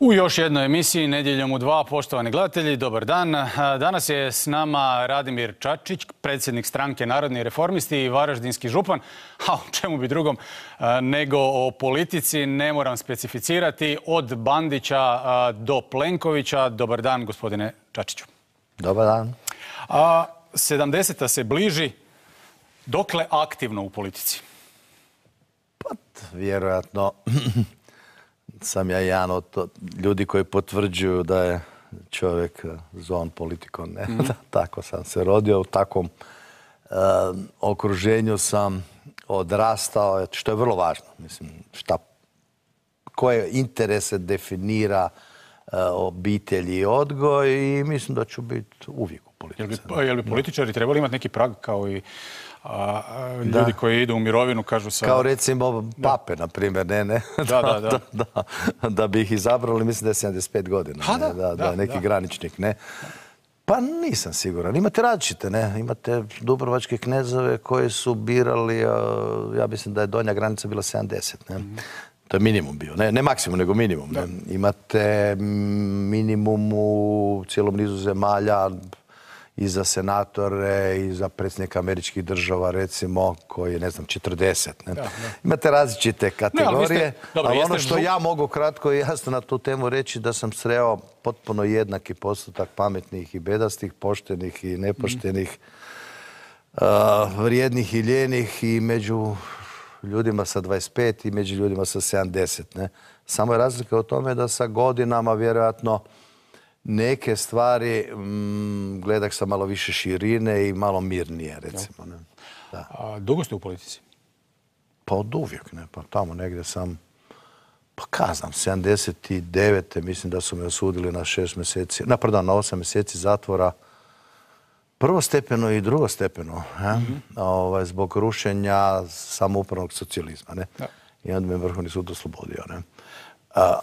U još jednoj emisiji Nedjeljom u 2, poštovani gledatelji, dobar dan. Danas je s nama Radimir Čačić, predsjednik stranke Narodni reformisti i varaždinski župan. A o čemu bi drugom nego o politici, ne moram specificirati, od Bandića do Plenkovića. Dobar dan, gospodine Čačiću. Dobar dan. 70. se bliži. Dokle aktivno u politici? Pa, vjerojatno sam ja jedan od ljudi koji potvrđuju da je čovjek zon politikom. Tako sam se rodio, u takvom okruženju sam odrastao, što je vrlo važno. Mislim, koje interese definira obitelj i odgoj, i mislim da ću biti uvijek u politici. Jel bi političari trebali imati neki prag kao i ljudi koji idu u mirovinu, kažu sa... Kao recimo pape, na primjer, ne? Da bi ih izabrali, mislim da je 75 godina. Da, neki graničnik, ne? Pa nisam siguran. Imate različite, ne? Imate dubrovačke knezove koji su birali, ja mislim da je donja granica bila 70, ne? To je minimum bio, ne maksimum, nego minimum. Imate minimum u cijelom nizu zemalja i za senatore i za predsjednika američkih država, recimo, koji je, 40. Imate različite kategorije, ali ono što ja mogu kratko i jasno na tu temu reći, da sam sreo potpuno jednaki postotak pametnih i bedastih, poštenih i nepoštenih, vrijednih i ljenih, i među ljudima sa 25 i među ljudima sa 70. Samo je razlika u tome da sa godinama vjerojatno neke stvari gledak sa malo više širine i malo mirnije, recimo. Dugo ste u politici? Pa od uvijek, ne. Pa tamo negdje sam, pa kaznam, 79. mislim da su me osudili na 6 mjeseci, na 8 mjeseci zatvora, prvostepeno i drugostepeno, zbog rušenja samoupravnog socijalizma, ne. I onda me Vrhovni sud oslobodio, ne.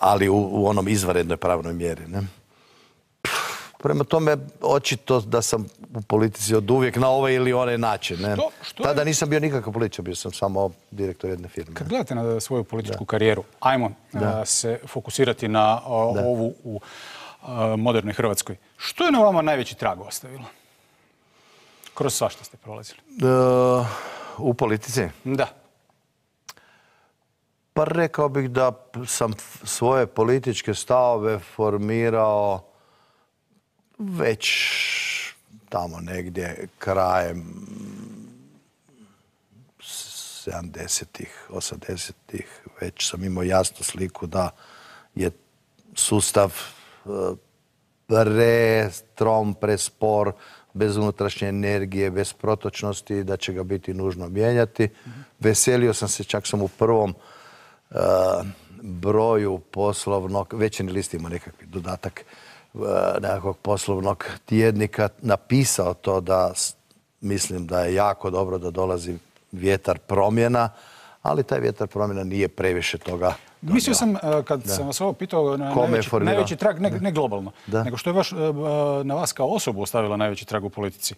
Ali u onom izvanrednoj pravnoj mjeri, ne. Prema tome, očito da sam u politici od uvijek na ovaj ili onaj način. Tada nisam bio nikakav političar, bio sam samo direktor jedne firme. Kad gledate na svoju političku karijeru, ajmo se fokusirati na ovu u modernoj Hrvatskoj. Što je na vama najveći trag ostavilo? Kroz svašta ste prolazili. U politici? Da. Pa rekao bih da sam svoje političke stavove formirao već tamo negdje krajem 70-ih, 80-ih. Već sam imao jasnu sliku da je sustav pretrom, prespor, bez unutrašnje energije, bez protočnosti, da će ga biti nužno mijenjati. Veselio sam se, čak sam u prvom broju poslovnog, Večernji list ima nekakvi dodatak, nekakvog poslovnog tjednika, napisao to da mislim da je jako dobro da dolazi vjetar promjena, ali taj vjetar promjena nije previše toga. Mislio sam, kad sam vas ovo pitao, najveći trag, ne globalno, nego što je na vas kao osobu ostavila najveći trag u politici.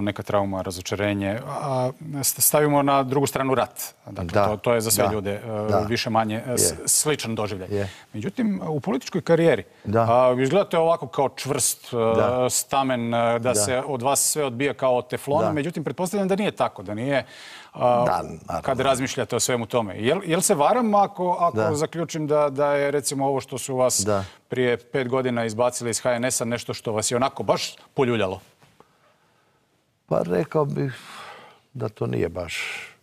Neka trauma, razočarenje. Stavimo na drugu stranu rat. Dakle, to je za sve ljude više manje sličan doživljaj. Međutim, u političkoj karijeri izgledate ovako kao čvrst stamen, da se od vas sve odbija kao od teflona. Međutim, pretpostavljam da nije tako, da nije kad razmišljate o svemu tome. Jel se varam ako zaključim da je recimo ovo što su vas prije 5 godina izbacili iz HNS-a nešto što vas je onako baš poljuljalo? Pa rekao bih da to nije baš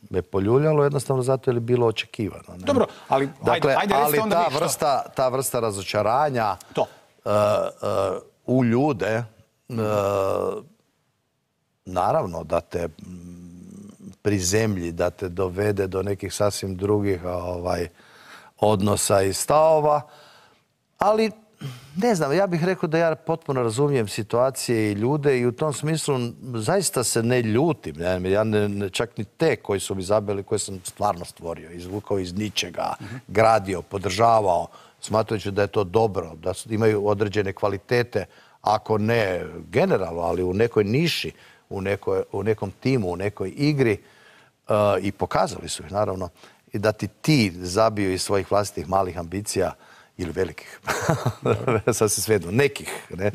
me poljuljalo, jednostavno zato je bilo očekivano. Dobro, ali ajde recite onda vi što. Ta vrsta razočaranja u ljude, naravno da te prizemlji, da te dovede do nekih sasvim drugih odnosa i stavova, ali Ne znam, ja bih rekao da ja potpuno razumijem situacije i ljude i u tom smislu zaista se ne ljutim. Ja čak ni te koji su mi zabili, koje sam stvarno stvorio, izvukao iz ničega, gradio, podržavao, smatrajući da je to dobro, da imaju određene kvalitete, ako ne generalno, ali u nekoj niši, u nekom timu, u nekoj igri, i pokazali su ih, naravno, i da ti zabiju iz svojih vlastitih malih ambicija ili velikih, sad se svejedno, nekih, ne?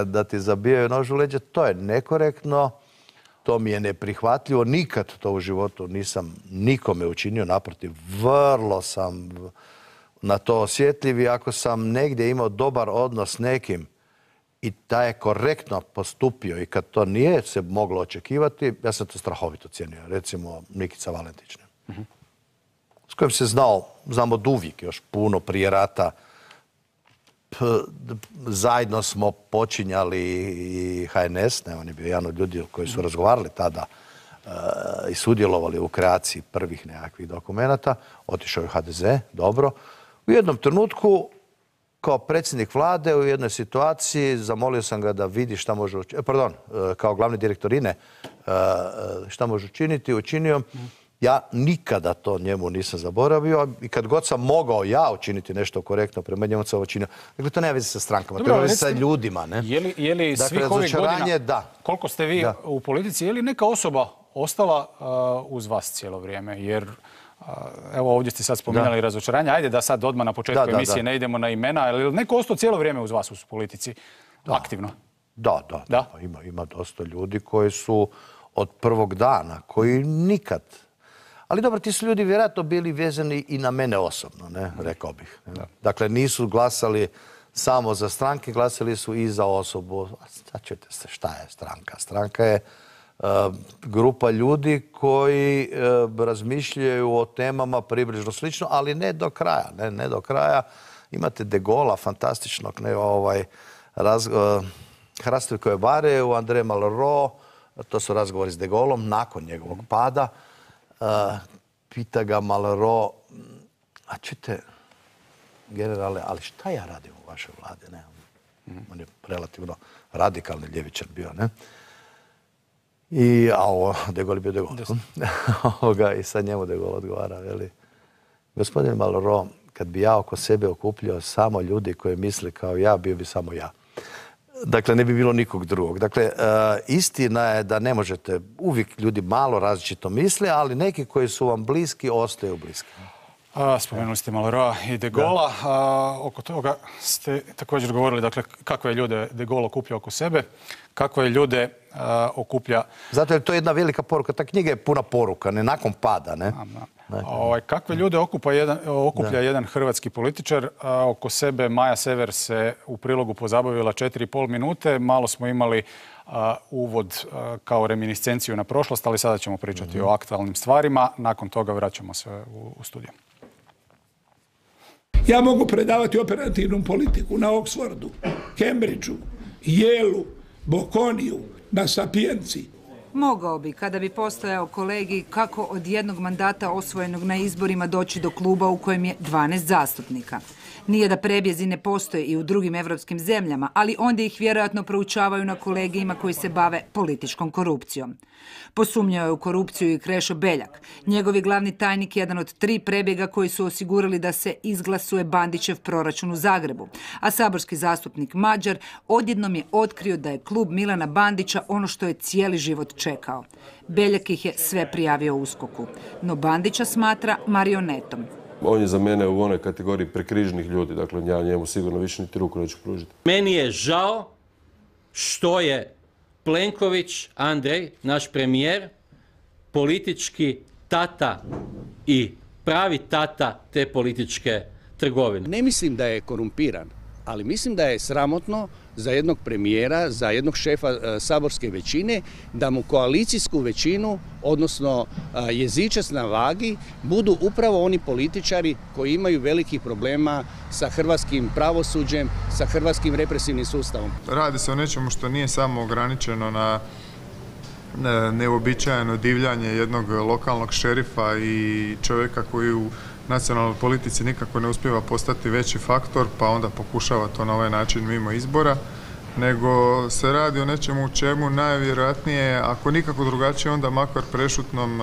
Da ti zabijaju nož u leđa, to je nekorektno, to mi je neprihvatljivo, nikad to u životu nisam nikome učinio, naprotiv, vrlo sam na to osjetljiv i ako sam negdje imao dobar odnos s nekim i da je korektno postupio i kad to nije se moglo očekivati, ja sam to strahovito cijenio. Recimo Nikica Valentić, s kojim se znam od uvijek, još puno prije rata. Zajedno smo počinjali i HNS, on je bio jedan od ljudi koji su razgovarali tada i sudjelovali u kreaciji prvih nekakvih dokumenata. Otišao je u HDZ, dobro. U jednom trenutku, kao predsjednik vlade, u jednoj situaciji, zamolio sam ga da vidi šta može učiniti, kao glavni direktor INE, šta može učiniti, učinio. Ja nikada to njemu nisam zaboravio i kad god sam mogao ja učiniti nešto korektno prema njemu sam učinio. Dakle, to nema veze sa strankama, to nema veze sa ljudima. Je li svih ovih godina, koliko ste vi u politici, je li neka osoba ostala uz vas cijelo vrijeme? Jer evo ovdje ste sad spominjali razočaranje. Ajde da sad odmah na početku emisije ne idemo na imena, ali je li neko ostao cijelo vrijeme uz vas u politici aktivno? Da. Ima dosta ljudi koji su od prvog dana, koji nikad... Ali dobro, ti su ljudi vjerojatno bili vezani i na mene osobno, rekao bih. Dakle, nisu glasali samo za stranke, glasali su i za osobu. Sad čujete se šta je stranka. Stranka je grupa ljudi koji razmišljaju o temama približno slično, ali ne do kraja. Ne do kraja. Imate De Gaulle'a, fantastičnog, Hrastovikove bare u André Malraux, to su razgovori s De Gaulleom nakon njegovog pada. Pita ga Malraux, a čujte, generale, ali šta ja radim u vašoj vladi? On je relativno radikalni ljevičar bio, ne? De Gaulle je bio De Gaulle. I sad njemu De Gaulle odgovara, veli, gospodin Malraux, kad bi ja oko sebe okupljao samo ljudi koji misle kao ja, bio bi samo ja. Dakle, ne bi bilo nikog drugog. Dakle, istina je da ne možete, uvijek ljudi malo različito misle, ali neki koji su vam bliski, ostaju bliski. Spomenuli ste Malraux i De Gaulle'a. Oko toga ste također govorili, dakle, kakve je ljude De Gaulle okuplja oko sebe, kakve je ljude okuplja... Zato je to jedna velika poruka. Ta knjiga je puna poruka, ne nakon pada, ne? Kakve ljude okuplja jedan hrvatski političar? Oko sebe Maja Sever se u prilogu pozabavila 4,5 minute. Malo smo imali uvod kao reminiscenciju na prošlost, ali sada ćemo pričati o aktualnim stvarima. Nakon toga vraćamo se u studiju. Ja mogu predavati operativnu politiku na Oxfordu, Cambridgeu, Yaleu, Bocconiju, na Sapienci. Mogao bi, kada bi postojao kolegi, kako od jednog mandata osvojenog na izborima doći do kluba u kojem je 12 zastupnika. Nije da prebjezi ne postoje i u drugim evropskim zemljama, ali onda ih vjerojatno proučavaju na kolegijima koji se bave političkom korupcijom. Posumnjao je u korupciju i Krešo Beljak. Njegov je glavni tajnik jedan od 3 prebjega koji su osigurali da se izglasuje Bandićev proračun u Zagrebu. A saborski zastupnik Mađar odjednom je otkrio da je klub Milana Bandića ono što je cijeli život čekao. Beljak ih je sve prijavio USKOK-u. No Bandića smatra marionetom. On je za mene u onoj kategoriji prekriženih ljudi, dakle ja njemu sigurno više niti ruku neću pružiti. Meni je žao što je Plenković, Andrej, naš premijer, politički tata i pravi tata te političke trgovine. Ne mislim da je korumpiran, ali mislim da je sramotno za jednog premijera, za jednog šefa saborske većine, da mu koalicijsku većinu, odnosno jezičac na vagi, budu upravo oni političari koji imaju velikih problema sa hrvatskim pravosuđem, sa hrvatskim represivnim sustavom. Radi se o nečemu što nije samo ograničeno na neuobičajeno divljanje jednog lokalnog šerifa i čovjeka koji u nacionalnoj politici nikako ne uspijeva postati veći faktor, pa onda pokušava to na ovaj način mimo izbora, nego se radi o nečemu u čemu najvjerojatnije, ako nikako drugačije, onda makar prešutnom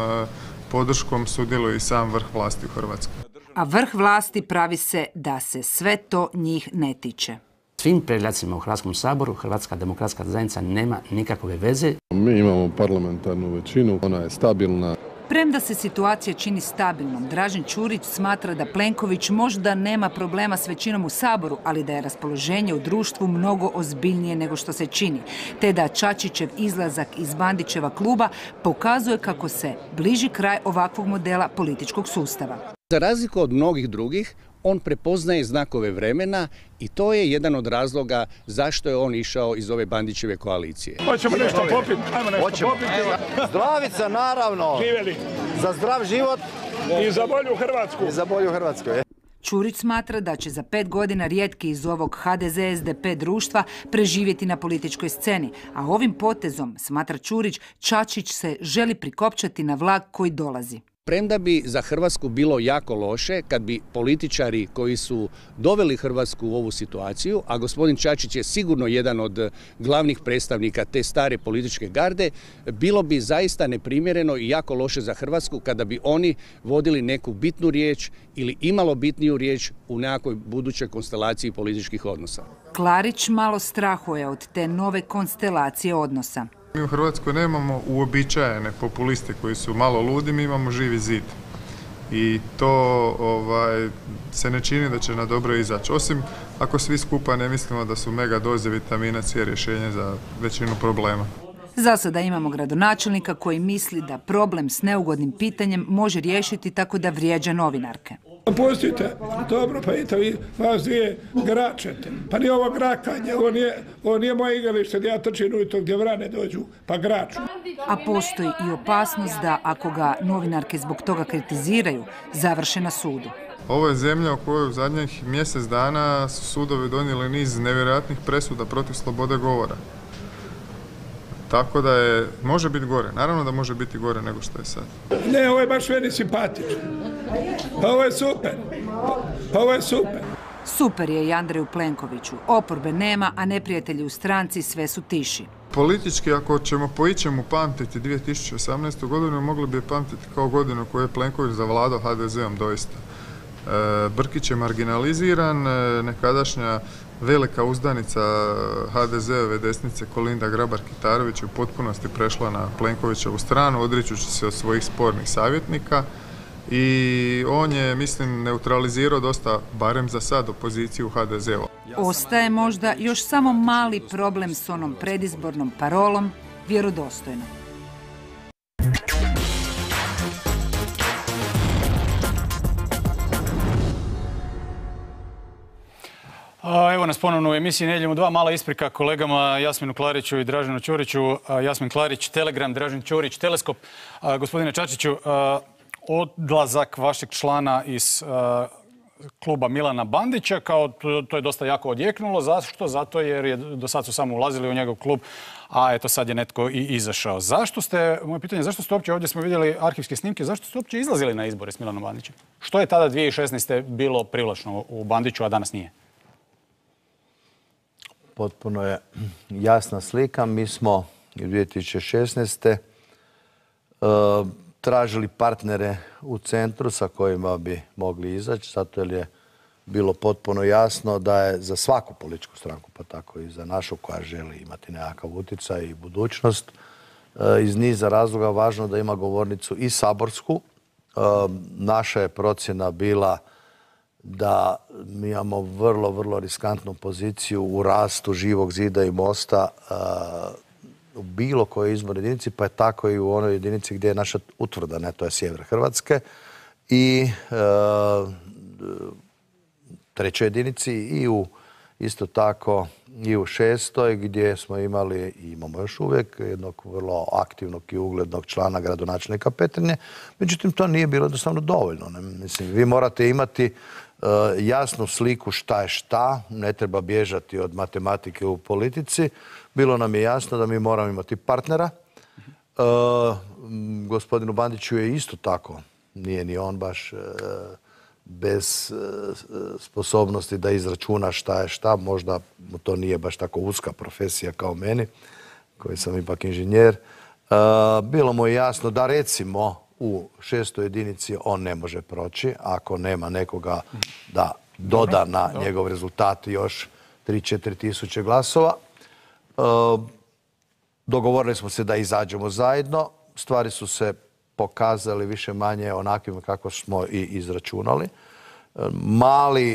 podrškom sudjeluje i sam vrh vlasti u Hrvatskoj. A vrh vlasti pravi se da se sve to njih ne tiče. Svim predlacima u Hrvatskom saboru Hrvatska demokratska zajednica nema nikakve veze. Mi imamo parlamentarnu većinu, ona je stabilna. Premda se situacija čini stabilnom, Dražen Ćurić smatra da Plenković možda nema problema s većinom u Saboru, ali da je raspoloženje u društvu mnogo ozbiljnije nego što se čini, te da Čačićev izlazak iz Bandićeva kluba pokazuje kako se bliži kraj ovakvog modela političkog sustava. Za razliku od mnogih drugih, on prepoznaje znakove vremena i to je jedan od razloga zašto je on išao iz ove Bandićeve koalicije. Hoćemo nešto popiti, ajmo nešto popiti. Zdravica, naravno. Živjeli. Za zdrav život. I za bolju Hrvatsku. I za bolju Hrvatsku, je. Ćurić smatra da će za 5 godina rijetki iz ovog HDZ-SDP društva preživjeti na političkoj sceni, a ovim potezom, smatra Ćurić, Čačić se želi prikopčati na vlak koji dolazi. Premda bi za Hrvatsku bilo jako loše kad bi političari koji su doveli Hrvatsku u ovu situaciju, a gospodin Čačić je sigurno jedan od glavnih predstavnika te stare političke garde, bilo bi zaista neprimjereno i jako loše za Hrvatsku kada bi oni vodili neku bitnu riječ ili imalo bitniju riječ u nekakvoj budućoj konstelaciji političkih odnosa. Klarić malo strahuje od te nove konstelacije odnosa. Mi u Hrvatskoj nemamo uobičajene populiste koji su malo ludi, mi imamo Živi zid. I to se ne čini da će na dobro izaći. Osim ako svi skupa ne mislimo da su mega doze vitamina C rješenje za većinu problema. Za sada imamo gradonačelnika koji misli da problem s neugodnim pitanjem može riješiti tako da vrijeđa novinarke. Pustite, dobro, pa idete vi, vas dvije gračete. Pa nije ovo grakanje, ovo nije moje igralište gdje ja trčim ujutro gdje vrane dođu, pa graču. A postoji i opasnost da ako ga novinarke zbog toga kritiziraju, završe na sudu. Ovo je zemlja u kojoj u zadnjih mjesec dana su sudovi donijeli niz nevjerojatnih presuda protiv slobode govora. Tako da može biti gore. Naravno da može biti gore nego što je sad. Ne, ovo je baš meni simpatično. Ovo je super. Ovo je super. Super je i Andreju Plenkoviću. Oporbe nema, a neprijatelji u stranci sve su tiši. Politički, ako ćemo po ičemu pamtiti 2018. godinu, mogli bi je pamtiti kao godinu koju je Plenković zavladao HDZ-om doista. Brkić je marginaliziran, nekadašnja velika uzdanica HDZ-ove desnice Kolinda Grabar-Kitarović u potpunosti prešla na Plenkovićevu stranu, odričući se od svojih spornih savjetnika i on je, mislim, neutralizirao dosta, barem za sad, opoziciju HDZ-u. Ostaje možda još samo mali problem s onom predizbornom parolom vjerodostojno. Evo nas ponovno u emisiji Nedjeljom u 2. Mala isprika kolegama Jasminu Klariću i Draženu Ćuriću. Jasmin Klarić, Telegram, Dražen Ćurić, Teleskop. Gospodine Čačiću, odlazak vašeg člana iz kluba Milana Bandića, to je dosta jako odjeknulo. Zašto? Zato jer do sad su samo ulazili u njegov klub, a eto sad je netko i izašao. Moje pitanje, zašto ste uopće, ovdje smo vidjeli arhivske snimke, zašto ste uopće izlazili na izbore s Milanom Bandićem? Što je tada 2016. bilo privlačno u Bandiću, a danas nije? Potpuno je jasna slika. Mi smo 2016. tražili partnere u centru sa kojima bi mogli izaći, zato jer je bilo potpuno jasno da je za svaku političku stranku, pa tako i za našu koja želi imati nekakav utjecaj i budućnost, iz niza razloga važno da ima govornicu i saborsku. Naša je procjena bila da mi imamo vrlo, vrlo riskantnu poziciju u rastu Živog zida i Mosta u bilo kojoj izbornoj jedinici, pa je tako i u onoj jedinici gdje je naša utvrda, ne, to je sjever Hrvatske, i trećoj jedinici i isto tako i u 6. gdje smo imali i imamo još uvijek jednog vrlo aktivnog i uglednog člana gradonačelnika Petrinje. Međutim, to nije bilo jednostavno dovoljno. Mislim, vi morate imati jasnu sliku šta je šta, ne treba bježati od matematike u politici. Bilo nam je jasno da mi moramo imati partnera. Gospodinu Bandiću je isto tako, nije ni on baš bez sposobnosti da izračuna šta je šta. Možda mu to nije baš tako uska profesija kao meni, koji sam ipak inženjer. Bilo mu je jasno da recimo u 6. jedinici on ne može proći ako nema nekoga da doda na njegov rezultat još 3-4 tisuće glasova. Dogovorili smo se da izađemo zajedno. Stvari su se pokazali više manje onakvim kako smo i izračunali.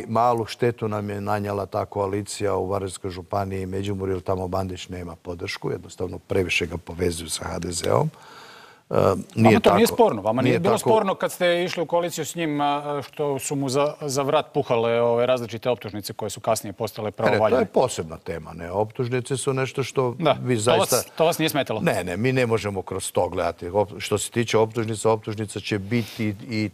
Malu štetu nam je nanijela ta koalicija u Varaždinskoj županiji i Međimurju, jer tamo Bandić nema podršku, jednostavno previše ga povezuju sa HDZ-om. Vama to nije sporno. Vama nije bilo sporno kad ste išli u koaliciju s njim što su mu za vrat puhale ove različite optužnice koje su kasnije postale pravovaljane. To je posebna tema. Optužnice su nešto što vi zaista... To vas nije smetalo? Ne, mi ne možemo kroz to gledati. Što se tiče optužnica će biti i...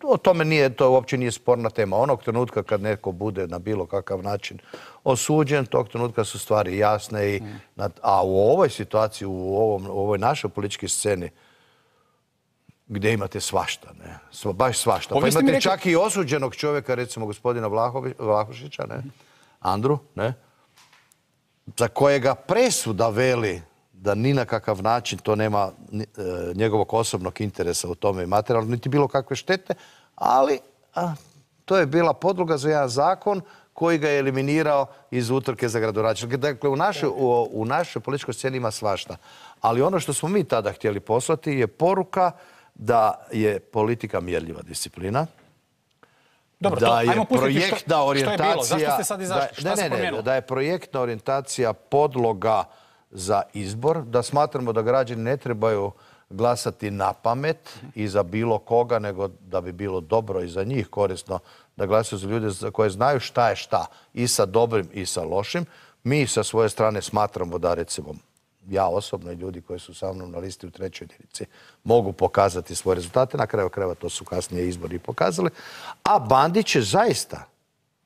O tome to uopće nije sporna tema. Onog trenutka kad neko bude na bilo kakav način osuđen, tog trenutka su stvari jasne. A u ovoj situaciji, u ovoj našoj političkoj sceni, gdje imate svašta, baš svašta. Pa imate čak i osuđenog čovjeka, recimo gospodina Vlahušića, Andru, za kojega presuda veli da ni na kakav način to nema njegovog osobnog interesa u tome materijalno, niti bilo kakve štete, ali to je bila podloga za jedan zakon koji ga je eliminirao iz utrke za gradonačelnika. Dakle, u našoj političkoj sceni ima svašta. Ali ono što smo mi tada htjeli poslati je poruka da je politika mjerljiva disciplina. Dobro, da je ajmo pustiti projektna orijentacija... Što je bilo? Zašto ste sad izašli? Šta se promijenilo? Da je projektna orijentacija podloga za izbor, da smatramo da građani ne trebaju glasati na pamet i za bilo koga, nego da bi bilo dobro i za njih korisno da glasaju za ljude koje znaju šta je šta, i sa dobrim i sa lošim. Mi sa svoje strane smatramo da, recimo, ja osobno i ljudi koji su sa mnom na listi u 3. jedinici mogu pokazati svoje rezultate. Na kraju krajeva to su kasnije izbori pokazali. A Bandić je zaista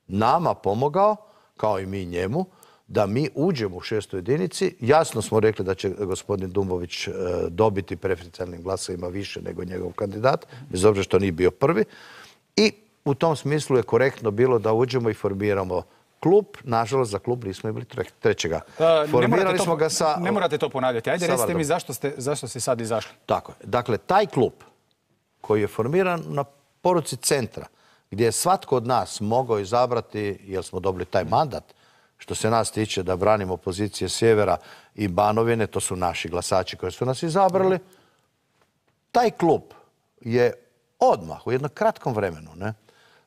nama pomogao, kao i mi njemu, da mi uđemo u 6. jedinici. Jasno smo rekli da će gospodin Dumbović dobiti preferencijalnim glasovima više nego njegov kandidat, bez obzira što nije bio prvi. I u tom smislu je korektno bilo da uđemo i formiramo klub. Nažalost, za klub nismo imali trećega. Formirali smo ga sa... Ne morate to ponavljati. Ajde, recite mi zašto ste sad izašli. Tako je. Dakle, taj klub koji je formiran na poruci centra, gdje je svatko od nas mogao izabrati, jer smo dobili taj mandat, što se nas tiče da branimo pozicije Sjevera i Banovine, to su naši glasači koji su nas izabrali, taj klub je odmah, u jednom kratkom vremenu,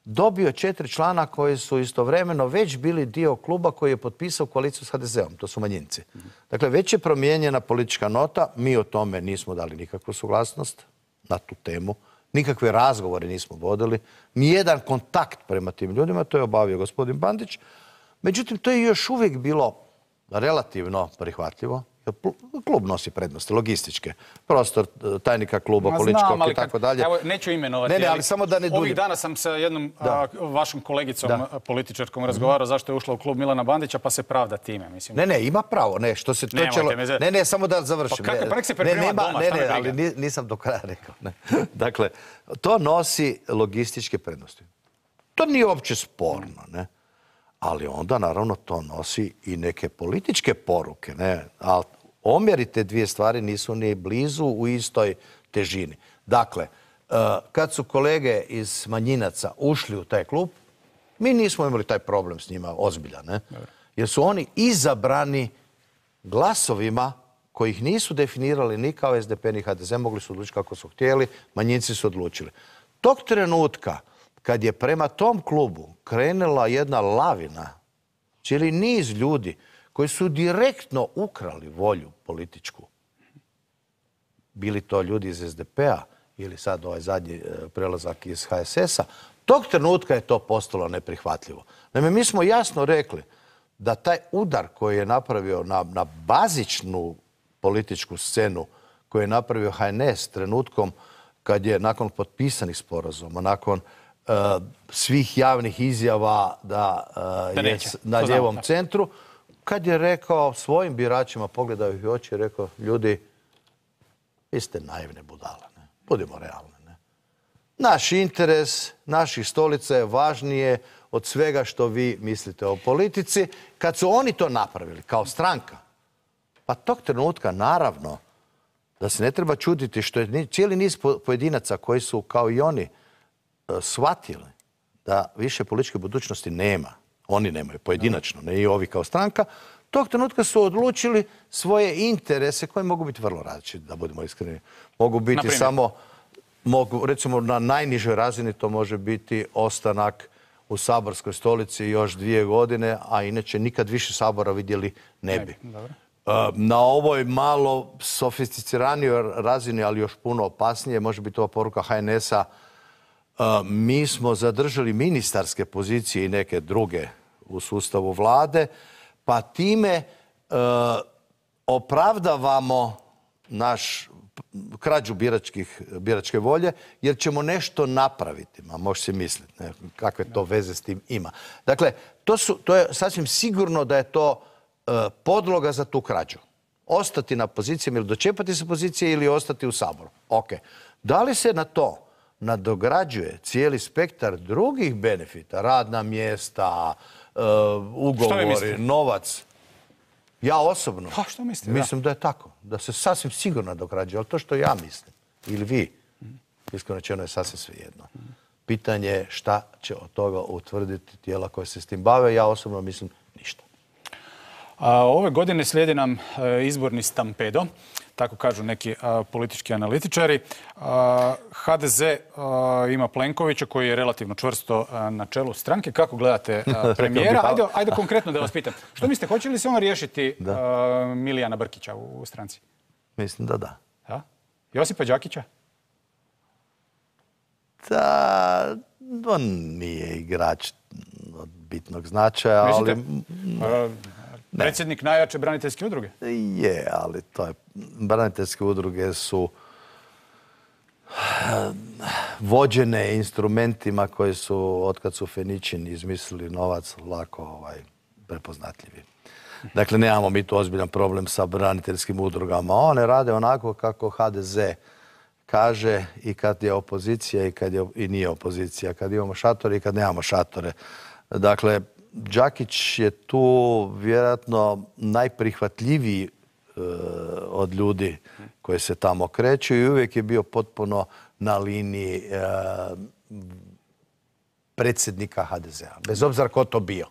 dobio 4 člana koji su istovremeno već bili dio kluba koji je potpisao koaliciju s HDZ-om. To su manjinci. Dakle, već je promijenjena politička nota. Mi o tome nismo dali nikakvu suglasnost na tu temu. Nikakve razgovore nismo vodili. Nijedan kontakt prema tim ljudima. To je obavio gospodin Bandić. Međutim, to je još uvijek bilo relativno prihvatljivo. Klub nosi prednosti, logističke. Prostor tajnika kluba, političkog i tako dalje. Evo, neću imenovati, ali samo da ne duljim. Ovih dana sam sa jednom vašom kolegicom političarkom razgovarao zašto je ušla u klub Milana Bandića, pa se pravda time. Ne, ima pravo. Što se Ne, samo da završim. Pa nek se priprema doma, šta me briga. Ali nisam do kraja rekao. Dakle, to nosi logističke prednosti. To nije uopće sporno, ne? Ali onda, naravno, to nosi i neke političke poruke. Ali omjeri te dvije stvari nisu ni blizu u istoj težini. Dakle, kad su kolege iz manjinaca ušli u taj klub, mi nismo imali taj problem s njima ozbiljan. Jer su oni izabrani glasovima kojih nisu definirali ni kao SDP ni HDZ, mogli su odlučiti kako su htjeli, manjinci su odlučili. Tog trenutka, kad je prema tom klubu krenula jedna lavina, cijeli niz ljudi koji su direktno ukrali volju političku, bili to ljudi iz SDP-a ili sad ovaj zadnji prelazak iz HSS-a, tog trenutka je to postalo neprihvatljivo. Naime, mi smo jasno rekli da taj udar koji je napravio na bazičnu političku scenu, koju je napravio HNS trenutkom kad je nakon potpisanih sporazuma, nakon svih javnih izjava da je na lijevom centru, kad je rekao svojim biračima, pogledao ih u oči i rekao, ljudi, vi ste naivne budale, budimo realni. naš interes, naših stolica je važnije od svega što vi mislite o politici. Kad su oni to napravili kao stranka, pa tog trenutka naravno da se ne treba čuditi što je cijeli niz pojedinaca koji su kao i oni shvatili da više političke budućnosti nema. Oni nemaju pojedinačno, ne i ovi kao stranka. Tog trenutka su odlučili svoje interese koji mogu biti vrlo različiti, da budemo iskreni. Mogu biti samo, recimo na najnižoj razini to može biti ostanak u saborskoj stolici još 2 godine, a inače nikad više sabora vidjeli ne bi. Na ovoj malo sofisticiranijoj razini, ali još puno opasnije, može biti ova poruka HNS-a, mi smo zadržali ministarske pozicije i neke druge u sustavu vlade, pa time opravdavamo naš krađu biračke volje, jer ćemo nešto napraviti. Može se misliti kakve to veze s tim ima. Dakle, to je sasvim sigurno da je to podloga za tu krađu. Ostati na pozicijama ili dočepati se pozicije ili ostati u Saboru. Ok. Da li se na to nadograđuje cijeli spektar drugih benefita, radna mjesta, ugovori, novac? Ja osobno mislim da je tako. Da se sasvim sigurno nadograđuje, ali to što ja mislim, ili vi, iskreno rečeno je sasvim svejedno. Pitanje je šta će od toga utvrditi tijela koje se s tim bave. Ja osobno mislim ništa. Ove godine slijedi nam izborni stampedo, tako kažu neki politički analitičari. HDZ ima Plenkovića koji je relativno čvrsto na čelu stranke. Kako gledate premijera? Ajde konkretno da vas pitam. Što mislite, hoće li se on riješiti Milijana Brkića u stranci? Mislim da da. Josipa Đakića? Da, on nije igrač od bitnog značaja, ali... Predsjednik najjače braniteljske udruge? Je, ali to je... Braniteljske udruge su vođene instrumentima koji su, otkad su Feničini izmislili novac, lako prepoznatljivi. Dakle, nemamo mi tu ozbiljan problem sa braniteljskim udrugama. One rade onako kako HDZ kaže i kad je opozicija i kad i nije opozicija. Kad imamo šatore i kad nemamo šatore. Dakle, Đakić je tu vjerojatno najprihvatljiviji od ljudi koji se tamo kreću i uvijek je bio potpuno na liniji predsjednika HDZ-a. Bez obzira ko to bio.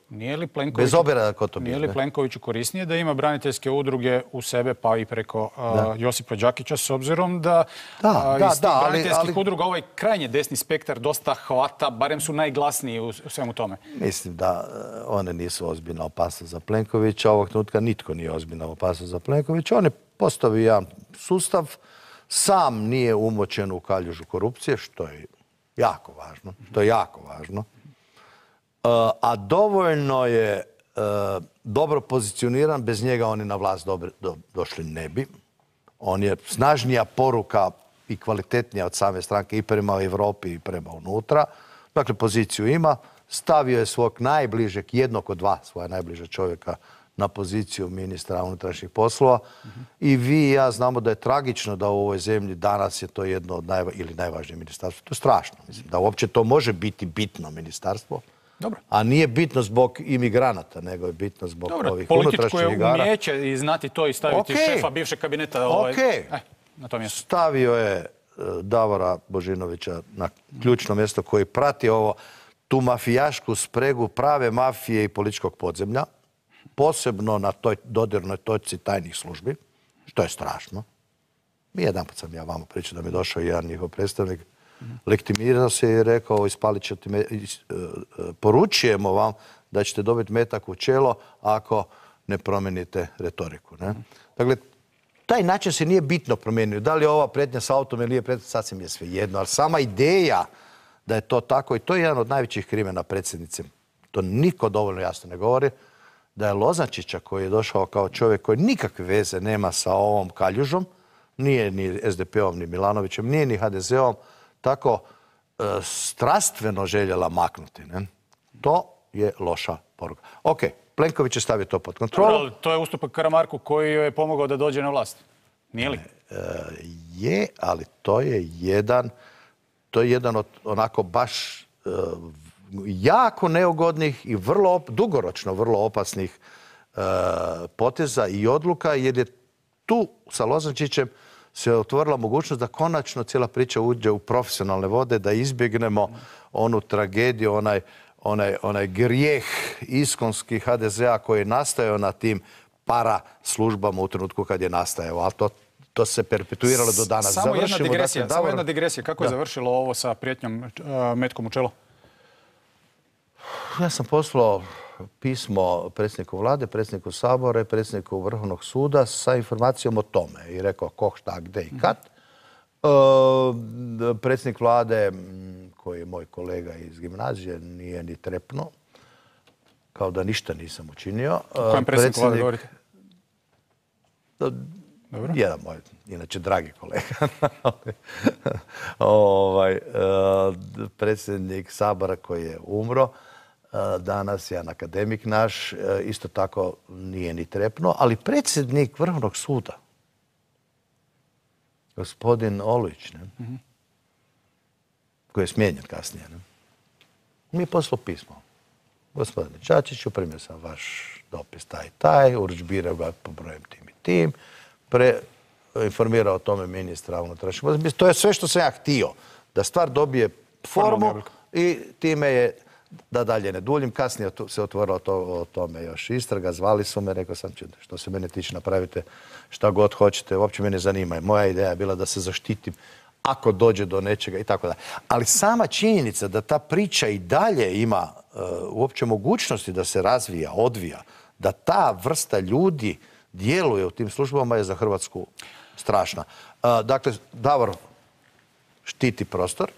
Bez obzira ko to bio. Nije li Plenkoviću korisnije da ima braniteljske udruge u sebe pa i preko Josipa Đakića s obzirom da iz tih braniteljskih udruga ovaj krajnje desni spektar dosta hvata, barem su najglasniji u svemu tome? Mislim da one nisu ozbiljna opasnost za Plenkovića. Ovog trenutka nitko nije ozbiljna opasnost za Plenkovića. On je postavio jedan sustav, sam nije umočen u kaljužu korupcije, što je jako važno. To je jako važno. A dovoljno je dobro pozicioniran, bez njega oni na vlast došli ne bi. On je snažnija poruka i kvalitetnija od same stranke i prema Evropi i prema unutra. Dakle, poziciju ima. Stavio je svog najbližeg, jednog od dva svoja najbliža čovjeka na poziciju ministra unutrašnjih poslova. I vi i ja znamo da je tragično da u ovoj zemlji danas je to jedno od ili najvažnije ministarstvo. To je strašno. Mislim da uopće to može biti bitno ministarstvo. Dobro. A nije bitno zbog imigranata, nego je bitno zbog ovih unutrašnjih igara. Političko je umijeće i znati to i staviti šefa bivšeg kabineta na to mjesto. Stavio je Davora Božinovića na ključno mjesto koji prati tu mafijašku spregu prave mafije i političkog podzemlja. Posebno na toj dodirnoj točci tajnih službi, što je strašno. Jedanput sam ja vama pričao da mi je došao jedan njihov predstavnik, legitimirao se i rekao, ispalit ćete poručujemo vam da ćete dobiti metak u čelo ako ne promijenite retoriku. Dakle, taj način se nije bitno promijenio. Da li je ova pretnja s autom ili nije pretnja, sasvim je svejedno. Ali sama ideja da je to tako, i to je jedan od najvećih krimena predsjednice, to niko dovoljno jasno ne govori, da je Lozančića koji je došao kao čovjek koji nikakve veze nema sa ovom kaljužom, nije ni SDP-om ni Milanovićem, nije ni HDZ-om, tako strastveno željela maknuti. To je loša poruka. Ok, Plenković je stavio to pod kontrolu. To je ustupak Karamarku koji je pomogao da dođe na vlast. Nije li? Je, ali to je jedan to je jedan od onako baš jako neugodnih i dugoročno vrlo opasnih poteza i odluka, jer je tu sa Lozančićem se otvorila mogućnost da konačno cijela priča uđe u profesionalne vode, da izbjegnemo onu tragediju, onaj grijeh iskonski HDZ-a koji je nastajao na tim para službama u trenutku kad je nastajao. Ali to se perpetuiralo do danas. Samo jedna digresija. Kako je završilo ovo sa prijetnjom metkom u čelo? Ja sam poslao pismo predsjedniku vlade, predsjedniku Sabora i predsjedniku Vrhovnog suda sa informacijom o tome. I rekao ko, šta, gdje i kad. Predsjednik vlade, koji je moj kolega iz gimnazije, nije ni trepnuo. Kao da ništa nisam učinio. O kojem predsjedniku vlade govorite? Jedan moj, inače dragi kolega. Predsjednik Sabora koji je umro, danas jedan akademik naš, isto tako nije ni trepnuo, ali predsjednik Vrhovnog suda, gospodin Olujić, koji je smijenjen kasnije, mi je poslao pismo. Gospodine Čačiću, primio sam vaš dopis taj, urudžbirao ga po brojem tim i tim, informirao o tome ministra unutrašnjih. To je sve što sam ja htio, da stvar dobije formu i time je, da dalje ne duljim, kasnije se otvorilo o tome još istraga, zvali su me, rekao sam, što se mene tiče, napravite šta god hoćete, uopće me ne zanima. Moja ideja je bila da se zaštitim ako dođe do nečega i tako da. Ali sama činjenica da ta priča i dalje ima uopće mogućnosti da se razvija, odvija, da ta vrsta ljudi djeluje u tim službama je za Hrvatsku strašna. Dakle, Davor štiti prostor.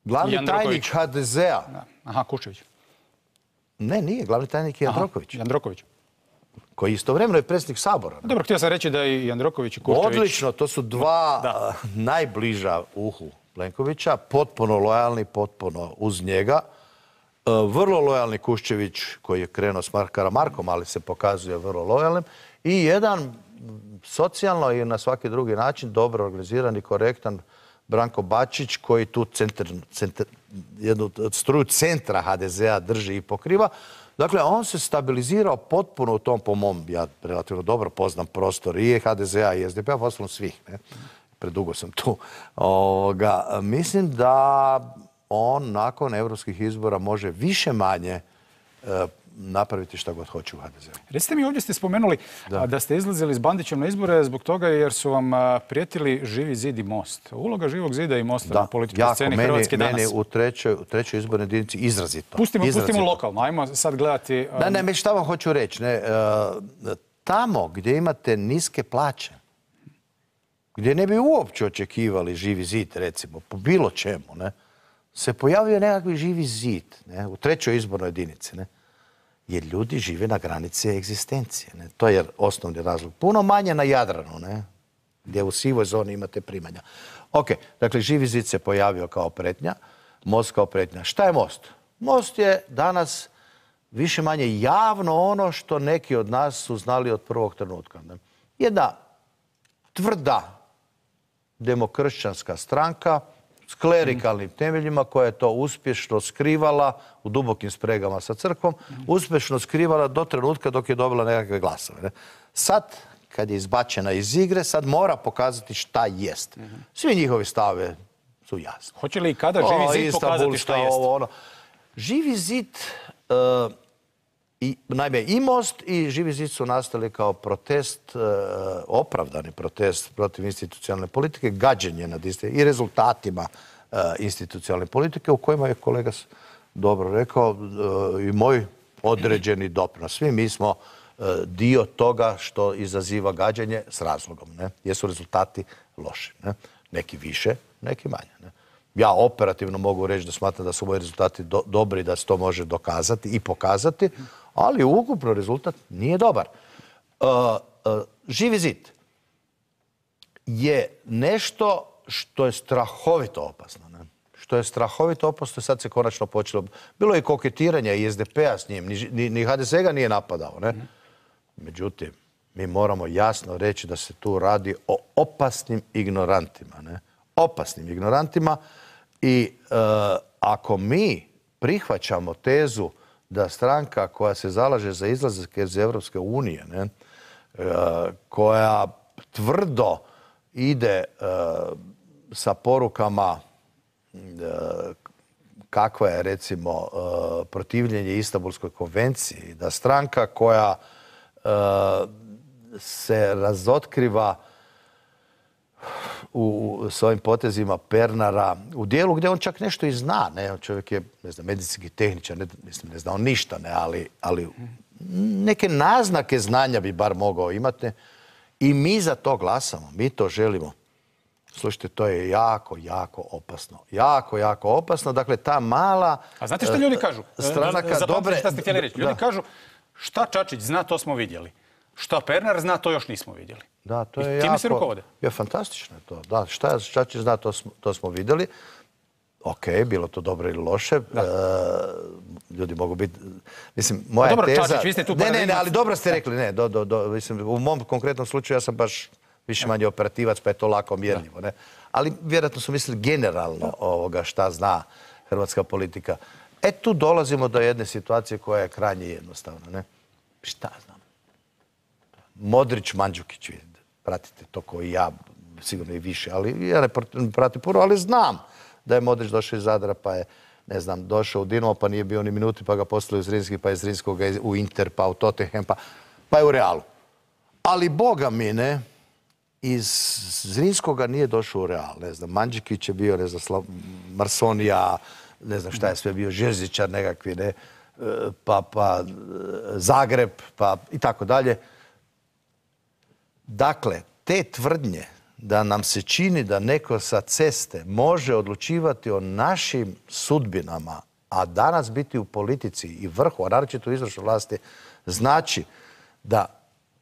Glavni tajnik HDZ-a... Aha, Kuščević. Ne, nije. Glavni tajnik je Jandroković. Jandroković. Koji istovremeno je predsjednik Sabora. Dobro, htio sam reći da i Jandroković i Kuščević... Odlično, to su dva najbliža uhu Plenkovića, potpuno lojalni, potpuno uz njega. Vrlo lojalni Kuščević koji je krenuo s Karamarkom, ali se pokazuje vrlo lojalnim. I jedan socijalno i na svaki drugi način dobro organiziran i korektan Branko Bačić koji tu jednu struju centra HDZ-a drži i pokriva. Dakle, on se stabilizirao potpuno u tom, po mom, ja relativno dobro poznam prostor i HDZ-a i SDP-a, poslovno svih. Predugo sam tu. Mislim da on nakon europskih izbora može više manje napraviti šta god hoće u HDZ-u. Recite mi, ovdje ste spomenuli da ste izlazili s Bandićem na izbore zbog toga jer su vam prijetili Živi zid i Most. Uloga Živog zida i Mosta na političkoj sceni Hrvatske danas. Meni u trećoj izbornoj jedinici izrazito. Pustimo lokalno, ajmo sad gledati... Ne, šta vam hoću reći. Tamo gdje imate niske plaće, gdje ne bi uopće očekivali Živi zid, recimo, po bilo čemu, se pojavio nekakvi Živi zid u trećoj izbornoj jedinici, jer ljudi žive na granici egzistencije. To je osnovni razlog. Puno manje na Jadranu, gdje u sivoj zoni imate primanja. Ok, dakle, Živi zid se pojavio kao pretnja, Most kao pretnja. Šta je Most? Most je danas više manje javno ono što neki od nas su znali od prvog trenutka. Jedna tvrda demokršćanska stranka s klerikalnim temeljima koja je to uspješno skrivala u dubokim spregama sa crkvom, uspješno skrivala do trenutka dok je dobila nekakve glasove. Sad, kad je izbačena iz igre, sad mora pokazati šta jest. Svi njihovi stave su jasni. Hoće li i kada Živi zid pokazati šta jest? Živi zid, naime i Most i Živi zid su nastali kao protest, opravdani protest protiv institucionalne politike, gađenje nad i rezultatima institucionalne politike u kojima je kolega dobro rekao i moj određeni doprinos. Svi mi smo dio toga što izaziva gađenje s razlogom. Jer su rezultati loši. Neki više, neki manje. Ja operativno mogu reći da smatram da su moji rezultati dobri, da se to može dokazati i pokazati, ali ukupno rezultat nije dobar. Živi zid je nešto što je strahovito opasno. Što je strahovito opasno, sad se konačno počelo. Bilo je koketiranja i SDP-a s njim, ni HDZ ga nije napadao. Međutim, mi moramo jasno reći da se tu radi o opasnim ignorantima. opasnim ignorantima i ako mi prihvaćamo tezu da stranka koja se zalaže za izlazak iz Europske unije, koja tvrdo ide sa porukama kakva je recimo protivljenje Istanbulskoj konvenciji, da stranka koja se razotkriva u svojim potezima Pernara u dijelu gdje on čak nešto i zna. Čovjek je, ne znam, medicinski tehničar, ne zna on ništa, ali neke naznake znanja bi bar mogao imati. I mi za to glasamo, mi to želimo. Slušajte, to je jako, jako opasno. Jako, jako opasno. Dakle, ta mala... A znate što ljudi kažu? Stranaka dobre... Šta ste htjeli reći? Ljudi kažu, šta Čačić zna, to smo vidjeli. Šta Pernar zna, to još nismo vidjeli. Da, to je I time se rukovode. Je fantastično je to. Da, šta Čačić zna, to smo vidjeli. Ok, bilo to dobro ili loše. Ljudi mogu biti... Mislim, moja dobro, teza... Čačić, vi ste tu ne, ali dobro ste rekli. Ne, mislim, u mom konkretnom slučaju ja sam baš više manje operativac, pa je to lako mjerljivo. Ne? Ali vjerojatno su mislili generalno šta zna hrvatska politika. Tu dolazimo do jedne situacije koja je krajnje jednostavna. Ne? Šta znam? Modrić, Mandžukić, pratite to koji ja, sigurno i više, ali ja ne pratim puno, ali znam da je Modrić došao iz Zadra, pa je, ne znam, došao u Dinamo, pa nije bio ni minuti, pa ga poslali u Zrinski, pa je Zrinskog u Inter, pa u Tottenham, pa je u Realu. Ali boga mi ne, iz Zrinskoga nije došao u Real. Ne znam, Mandžukić je bio, ne znam, Marsonija, ne znam šta je sve bio, Žezičar nekakvi, ne, pa Zagreb, pa i tako dalje. Dakle, te tvrdnje da nam se čini da neko sa ceste može odlučivati o našim sudbinama, a danas biti u politici i vrhu, a naročito u izvršnoj vlasti, znači da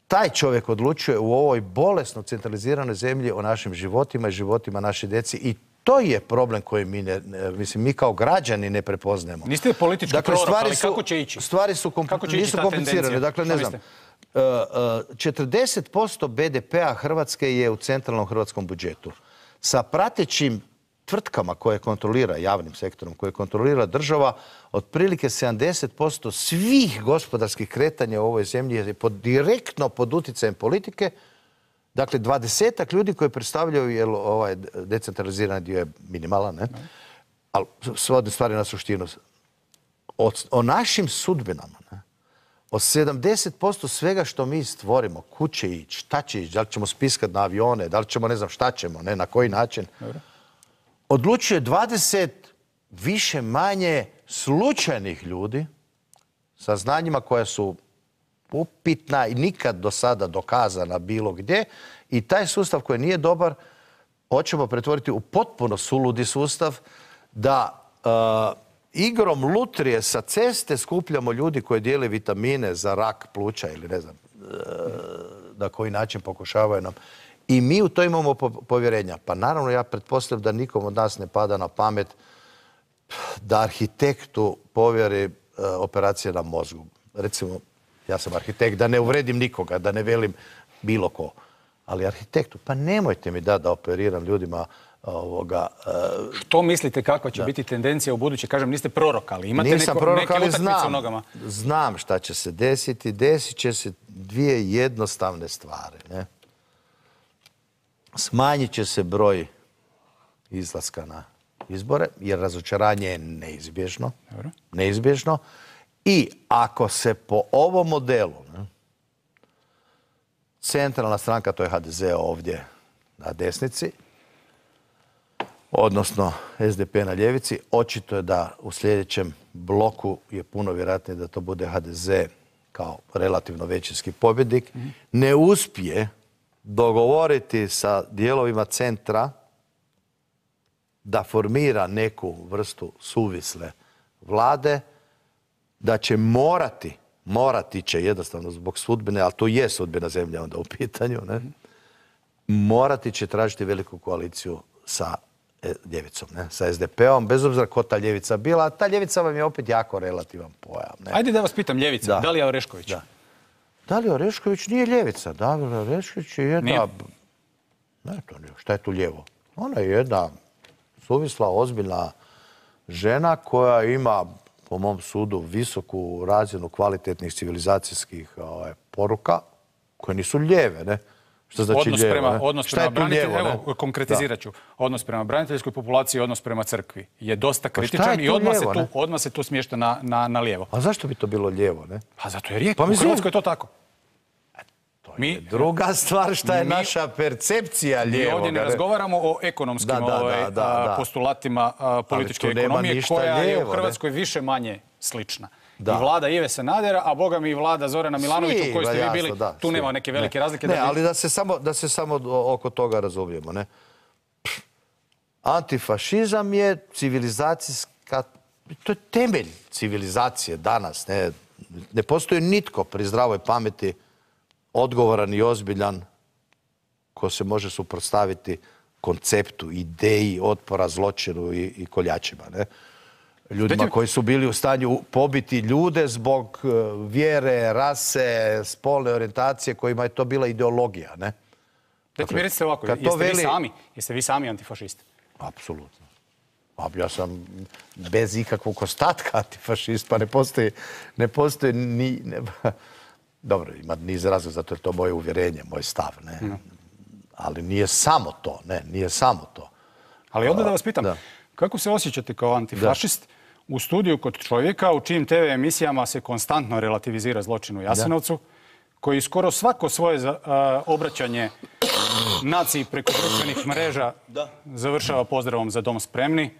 taj čovjek odlučuje u ovoj bolesno centraliziranoj zemlji o našim životima i životima naše djeci i to je problem koji mi kao građani ne prepoznajemo. Niste politički prorok, ali kako će ići? Stvari su nisu komplicirane. Dakle, ne znam, 40% BDP-a Hrvatske je u centralnom hrvatskom budžetu. Sa pratećim tvrtkama koje kontrolira, javnim sektorom, koje kontrolira država, otprilike 70% svih gospodarskih kretanja u ovoj zemlji je direktno pod utjecajem politike. Dakle, 20-ak ljudi koji predstavljaju, jer ovaj decentralizirani dio je minimalan, ne? Ali svodi stvari na suštinu. O našim sudbinama, ne? O 70% svega što mi stvorimo, kud će ići, šta će ići, da li ćemo spiskat na avione, da li ćemo, ne znam šta ćemo, ne, na koji način, odlučuje 20 više manje slučajnih ljudi sa znanjima koja su upitna i nikad do sada dokazana bilo gdje i taj sustav koji nije dobar hoćemo pretvoriti u potpuno suludi sustav da igrom lutrije sa ceste skupljamo ljudi koji dijele vitamine za rak pluća ili ne znam na koji način pokušavaju nam. I mi u to imamo povjerenja. Pa naravno ja pretpostavljam da nikom od nas ne pada na pamet da arhitektu povjeri operacije na mozgu. Recimo, ja sam arhitekt, da ne uvredim nikoga, da ne velim bilo ko. Ali arhitektu, pa nemojte mi da operiram ljudima Što mislite kakva će biti tendencija u buduće? Kažem, niste prorok, ali imate neke utakmice u nogama. Znam šta će se desiti. Desit će se dvije jednostavne stvari. Ne? Smanjit će se broj izlaska na izbore, jer razočaranje je neizbježno. Neizbježno. I ako se po ovom modelu centralna stranka, to je HDZ ovdje na desnici, odnosno SDP na ljevici, očito je da u sljedećem bloku je puno vjerojatnije da to bude HDZ kao relativno većinski pobjednik, ne uspije dogovoriti sa dijelovima centra da formira neku vrstu suvisle vlade, da će morati će jednostavno zbog sudbine, ali to je sudbina zemlje onda u pitanju, ne? Morati će tražiti veliku koaliciju sa ljevicom, ne? Sa SDP-om, bez obzira ko ta ljevica bila, a ta ljevica vam je opet jako relativan pojam. Ne? Ajde da vas pitam, ljevica, Dalija Orešković. Da. Dalija Orešković nije ljevica, Dalija Orešković je jedna... Nije? Ne, to nije. Šta je tu lijevo? Ona je jedna suvisla, ozbiljna žena koja ima, po mom sudu, visoku razinu kvalitetnih civilizacijskih poruka, koje nisu lijeve, ne? Što znači lijevo? Odnos prema braniteljskoj, evo, konkretizirat ću. Odnos prema braniteljskoj populaciji i odnos prema crkvi je dosta kritičan i odmah se tu smješta na lijevo. A zašto bi to bilo lijevo, ne? Pa zato je rijetko. U Hrvatskoj je to tako. Druga stvar šta je naša percepcija lijevog. Mi ovdje ne razgovaramo o ekonomskim postulatima političke ekonomije koja je u Hrvatskoj više manje slična. I vlada Ive Sanadera, a boga mi i vlada Zorana Milanovića u kojoj ste vi bili, tu nema neke velike razlike. Ne, ali da se samo oko toga razumijemo. Antifašizam je civilizacijska, to je temelj civilizacije danas. Ne postoji nitko pri zdravoj pameti odgovoran i ozbiljan ko se može suprotstaviti konceptu, ideji otpora zločinu i koljačima. Ljudima koji su bili u stanju pobiti ljude zbog vjere, rase, spolne orijentacije, kojima je to bila ideologija. Dajte mi recite ovako, jeste vi sami antifašisti? Apsolutno. Ja sam bez ikakvog ostatka antifašist, pa ne postoji ni... Dobro, ima niz razloga, zato je to moje uvjerenje, moj stav. Ali nije samo to, nije samo to. Ali onda da vas pitam, kako se osjećate kao antifašist u studiju kod čovjeka u čijim TV emisijama se konstantno relativizira zločin u Jasenovcu, koji skoro svako svoje obraćanje naciji preko društvenih mreža završava pozdravom za dom spremni,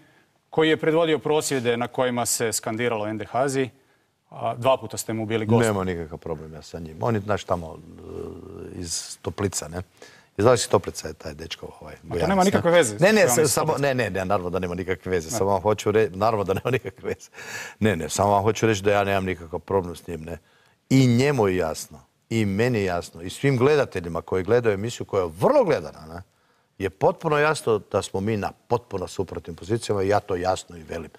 koji je predvodio prosvjede na kojima se skandiralo NDH-zi, a 2 puta ste mu bili gost. Nema nikakav problem ja sa njim. On je, znaš, tamo iz Toplica, ne? Iz Vaših Toplica je taj dečko Bojanac. To nema nikakve veze. Ne, naravno da nema nikakve veze. Samo vam hoću reći, naravno da nema nikakve veze. Ne, samo vam hoću reći da ja nemam nikakav problem s njim, ne. I njemu je jasno, i meni je jasno, i svim gledateljima koji gledaju emisiju koja je vrlo gledana, ne, je potpuno jasno da smo mi na potpuno suprotnim pozicijama i ja to jasno i velim.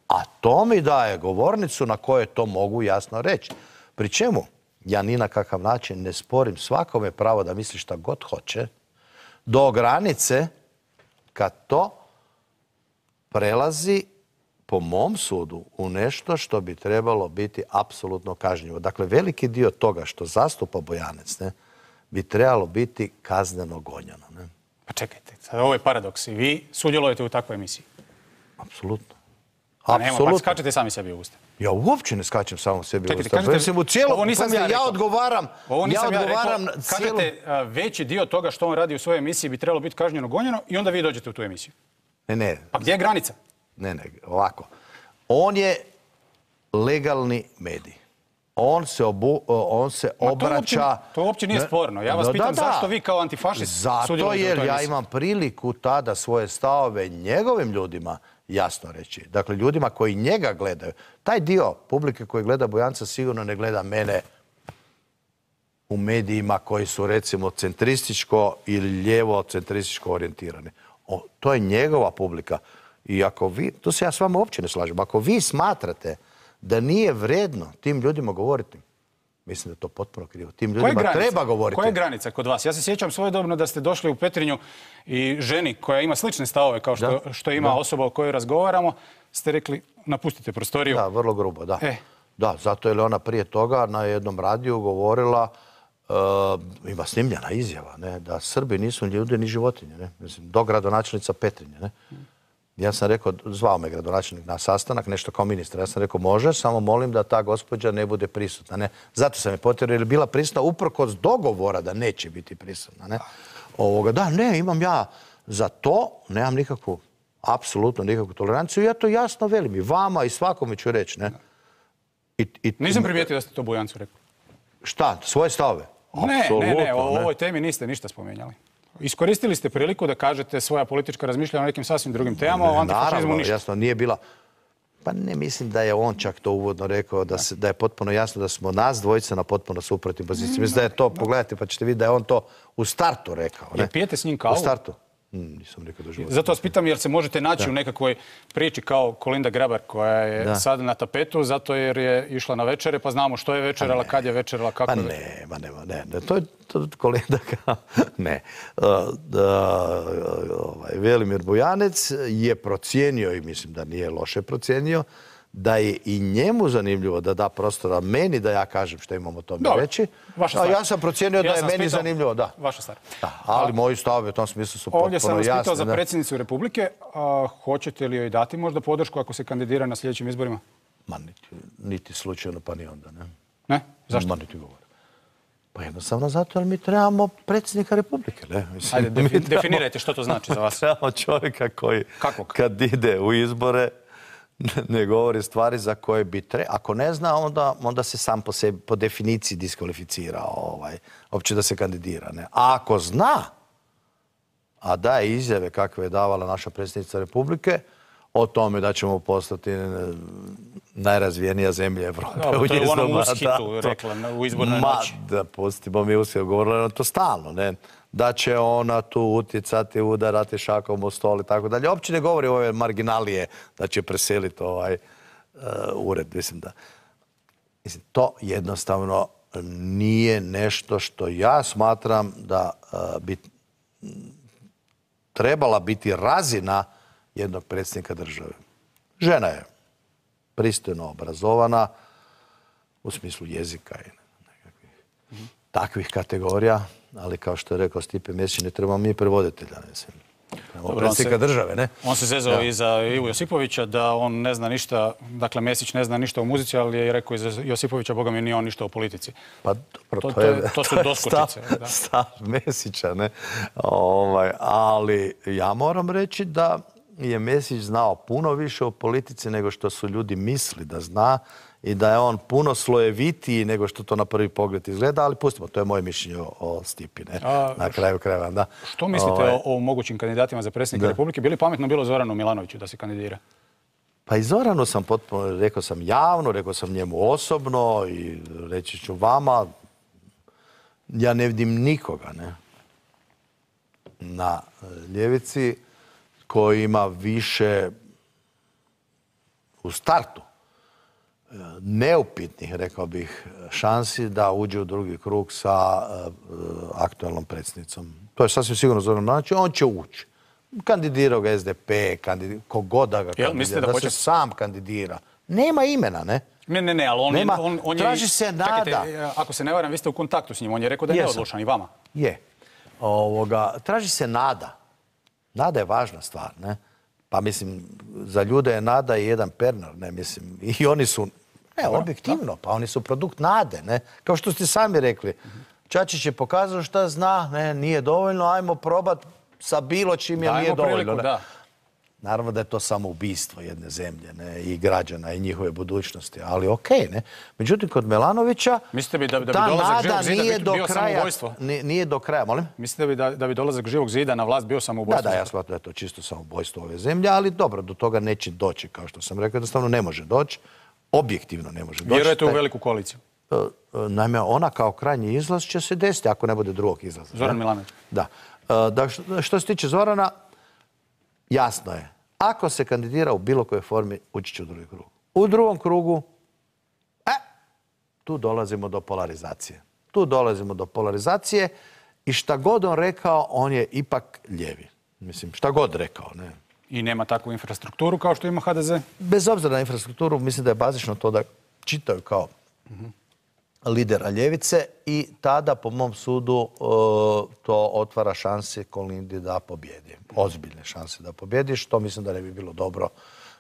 A to mi daje govornicu na kojoj to mogu jasno reći. Pri čemu ja ni na kakav način ne sporim svakome pravo da misli šta god hoće, do granice kad to prelazi, po mom sudu, u nešto što bi trebalo biti apsolutno kažnjivo. Dakle, veliki dio toga što zastupa Bojanac bi trebalo biti kazneno gonjeno. Pa čekajte, ovo je paradoks. I vi sudjelujete u takvoj emisiji? Apsolutno. Pa skačete sami sebi u usta. Ja uopće ne skačem samo sebi u usta. Ja odgovaram. Kažete, veći dio toga što on radi u svojoj emisiji bi trebalo biti kažnjeno gonjeno i onda vi dođete u tu emisiju. Ne. Pa gdje je granica? Ne, ovako. On je legalni medij. On se obraća... To uopće nije sporno. Ja vas pitam zašto vi kao antifašist sudjelujete u toj emisiji. Zato jer ja imam priliku tada svoje stavove njegovim ljudima jasno reći. Dakle, ljudima koji njega gledaju. Taj dio publike koji gleda Bojanca sigurno ne gleda mene u medijima koji su, recimo, centrističko ili lijevo centrističko orijentirani. To je njegova publika. I ako vi, to se ja s vama uopće ne slažem, ako vi smatrate da nije vredno tim ljudima govoriti, mislim da je to potpuno krivo. Tim ljudima treba govoriti. Koja je granica kod vas? Ja se sjećam svojedobno da ste došli u Petrinju i ženi koja ima slične stavove kao što ima osoba o kojoj razgovaramo, ste rekli napustite prostoriju. Da, vrlo grubo, da. Da, zato je ona prije toga na jednom radiju govorila, ima snimljena izjava, da Srbi nisu ni ljudi ni životinje. Mislim, do gradonačelnica Petrinje. Ja sam rekao, zvao me gradonačelnik na sastanak, nešto kao ministra. Ja sam rekao, može, samo molim da ta gospođa ne bude prisutna. Zato sam je potjerao, jer je bila prisutna uprkos dogovora da neće biti prisutna. Imam ja za to, nemam nikakvu, apsolutno nikakvu toleranciju. Ja to jasno velim i vama i svakome ću reći. Nisam primijetio da ste to Bojancu rekli. Šta, svoje stavove? Ne, o ovoj temi niste ništa spomenjali. Iskoristili ste priliku da kažete svoja politička razmišljanja o nekim sasvim drugim temama, o antifašizmu ništa. Jasno, nije bila... Pa ne mislim da je on čak to uvodno rekao, da je potpuno jasno da smo nas dvojica na potpuno suprotnim pozicijama. Mislim da je to, pogledajte pa ćete vidjeti da je on to u startu rekao. Jer pijete s njim kavu? U startu. Nisam nikad u životu. Zato vas pitam jer se možete naći u nekakvoj priči kao Kolinda Grabar koja je sad na tapetu zato jer je išla na večere pa znamo što je večerala, kad je večerala, kako je večerala. Ne. To je Kolinda ne. Velimir Bujanec je procijenio i mislim da nije loše procijenio da je i njemu zanimljivo da da prostora meni da ja kažem što imam o tome reći. A ja sam procijenio da je meni zanimljivo, da. Vaša stvar. Ali moji stavovi u tom smislu su potpuno jasni. Ovdje sam vas pitao za predsjednicu Republike. Hoćete li joj dati možda podršku ako se kandidira na sljedećim izborima? Ma niti slučajno, pa ni onda, ne. Ne? Zašto? Ma niti govor. Pa jednostavno zato jer mi trebamo predsjednika Republike, ne? Ajde, definirajte što to znači za vas. Trebamo čovjeka koji kad ide u izbore ne govori stvari za koje bi trebao. Ako ne zna, onda se sam po sebi, po definiciji diskvalificira uopće da se kandidira. Ne? A ako zna, a daje izjave kakve je davala naša predsjednica Republike, o tome da ćemo postati najrazvijenija zemlja Evrope. To je ono ushitu rekla u izbornoj noći. Da, pustimo mi ushitu, govorila na to stalno, ne? Da će ona tu utjecati, udarati šakom u stol i tako dalje. Uopće ne govori ove marginalije da će preseliti ured. Mislim, to jednostavno nije nešto što ja smatram da bi trebala biti razina jednog predsjednika države. Žena je pristojno obrazovana u smislu jezika i nekakvih takvih kategorija, ali kao što je rekao Stipe Mesić, ne trebamo mi prevoditelja, mislim. Predsjednika države, ne? On se zezao i za Ivu Josipovića da on ne zna ništa, dakle Mesić ne zna ništa o muzici, ali je rekao i za Josipovića, boga mi nije on ništa o politici. Pa dobro, to su doskočice. Stav Mesića, ne? Ali ja moram reći da je Mesić znao puno više o politici nego što su ljudi misli da zna i da je on puno slojevitiji nego što to na prvi pogled izgleda, ali pustimo, to je moje mišljenje o Stipi, ne? Na kraju krajeva, da. Što mislite o mogućim kandidatima za predsjednika Republike? Bi li pametno bilo Zoranu Milanoviću da se kandidira? Pa i Zoranu sam potpuno, rekao sam javno, rekao sam njemu osobno i reći ću vama, ja ne vidim nikoga, ne? Na ljevici koji ima više u startu neupitnih, rekao bih, šansi da uđe u drugi krug sa aktualnom predsjednicom. To je sasvim sigurno Zoran Milanović, on će ući. Kandidirao ga SDP, kogod da ga kandidira, da se sam kandidira. Nema imena, ne? Ne, ali on je... Traži se nada. Ako se ne varam, vi ste u kontaktu s njim, on je rekao da je neodlučan i vama. Je. Traži se nada. Nada je važna stvar, ne? Pa mislim, za ljude je nada i jedan Pernar, ne mislim. I oni su, objektivno, pa oni su produkt nade, ne? Kao što ste sami rekli. Čačić je pokazao šta zna, ne, nije dovoljno, ajmo probat sa bilo čim je nije dovoljno. Priliku, da. Naravno da je to samoubistvo jedne zemlje, ne, i građana i njihove budućnosti, ali okej, ne. Međutim, kod Milanovića mislite bi da bi ta dolazak nada Živog zida bio samoubojstvo? Nije do kraja, molim? Mislite bi da bi dolazak Živog zida na vlast bio samoubojstvo? Da, ja smatram da je to čisto samoubojstvo ove zemlje, ali dobro, do toga neće doći, kao što sam rekao, jednostavno ne može doći, objektivno ne može doći. Vjerujete u veliku koaliciju? Naime, ona kao krajnji izlaz će se desiti ako ne bude drugog izlaza. Zoran Milanović? Da. Što se tiče Zorana, jasno je. Ako se kandidira u bilo kojoj formi, ući će u drugi krug. U drugom krugu, tu dolazimo do polarizacije. I šta god on rekao, on je ipak ljevi. Mislim, šta god rekao, ne. I nema takvu infrastrukturu kao što ima HDZ? Bez obzira na infrastrukturu, mislim da je bazično to da čitaju kao lidera ljevice i tada, po mom sudu, to otvara šanse Kolindi da pobjedi. Ozbiljne šanse da pobjedi, što mislim da ne bi bilo dobro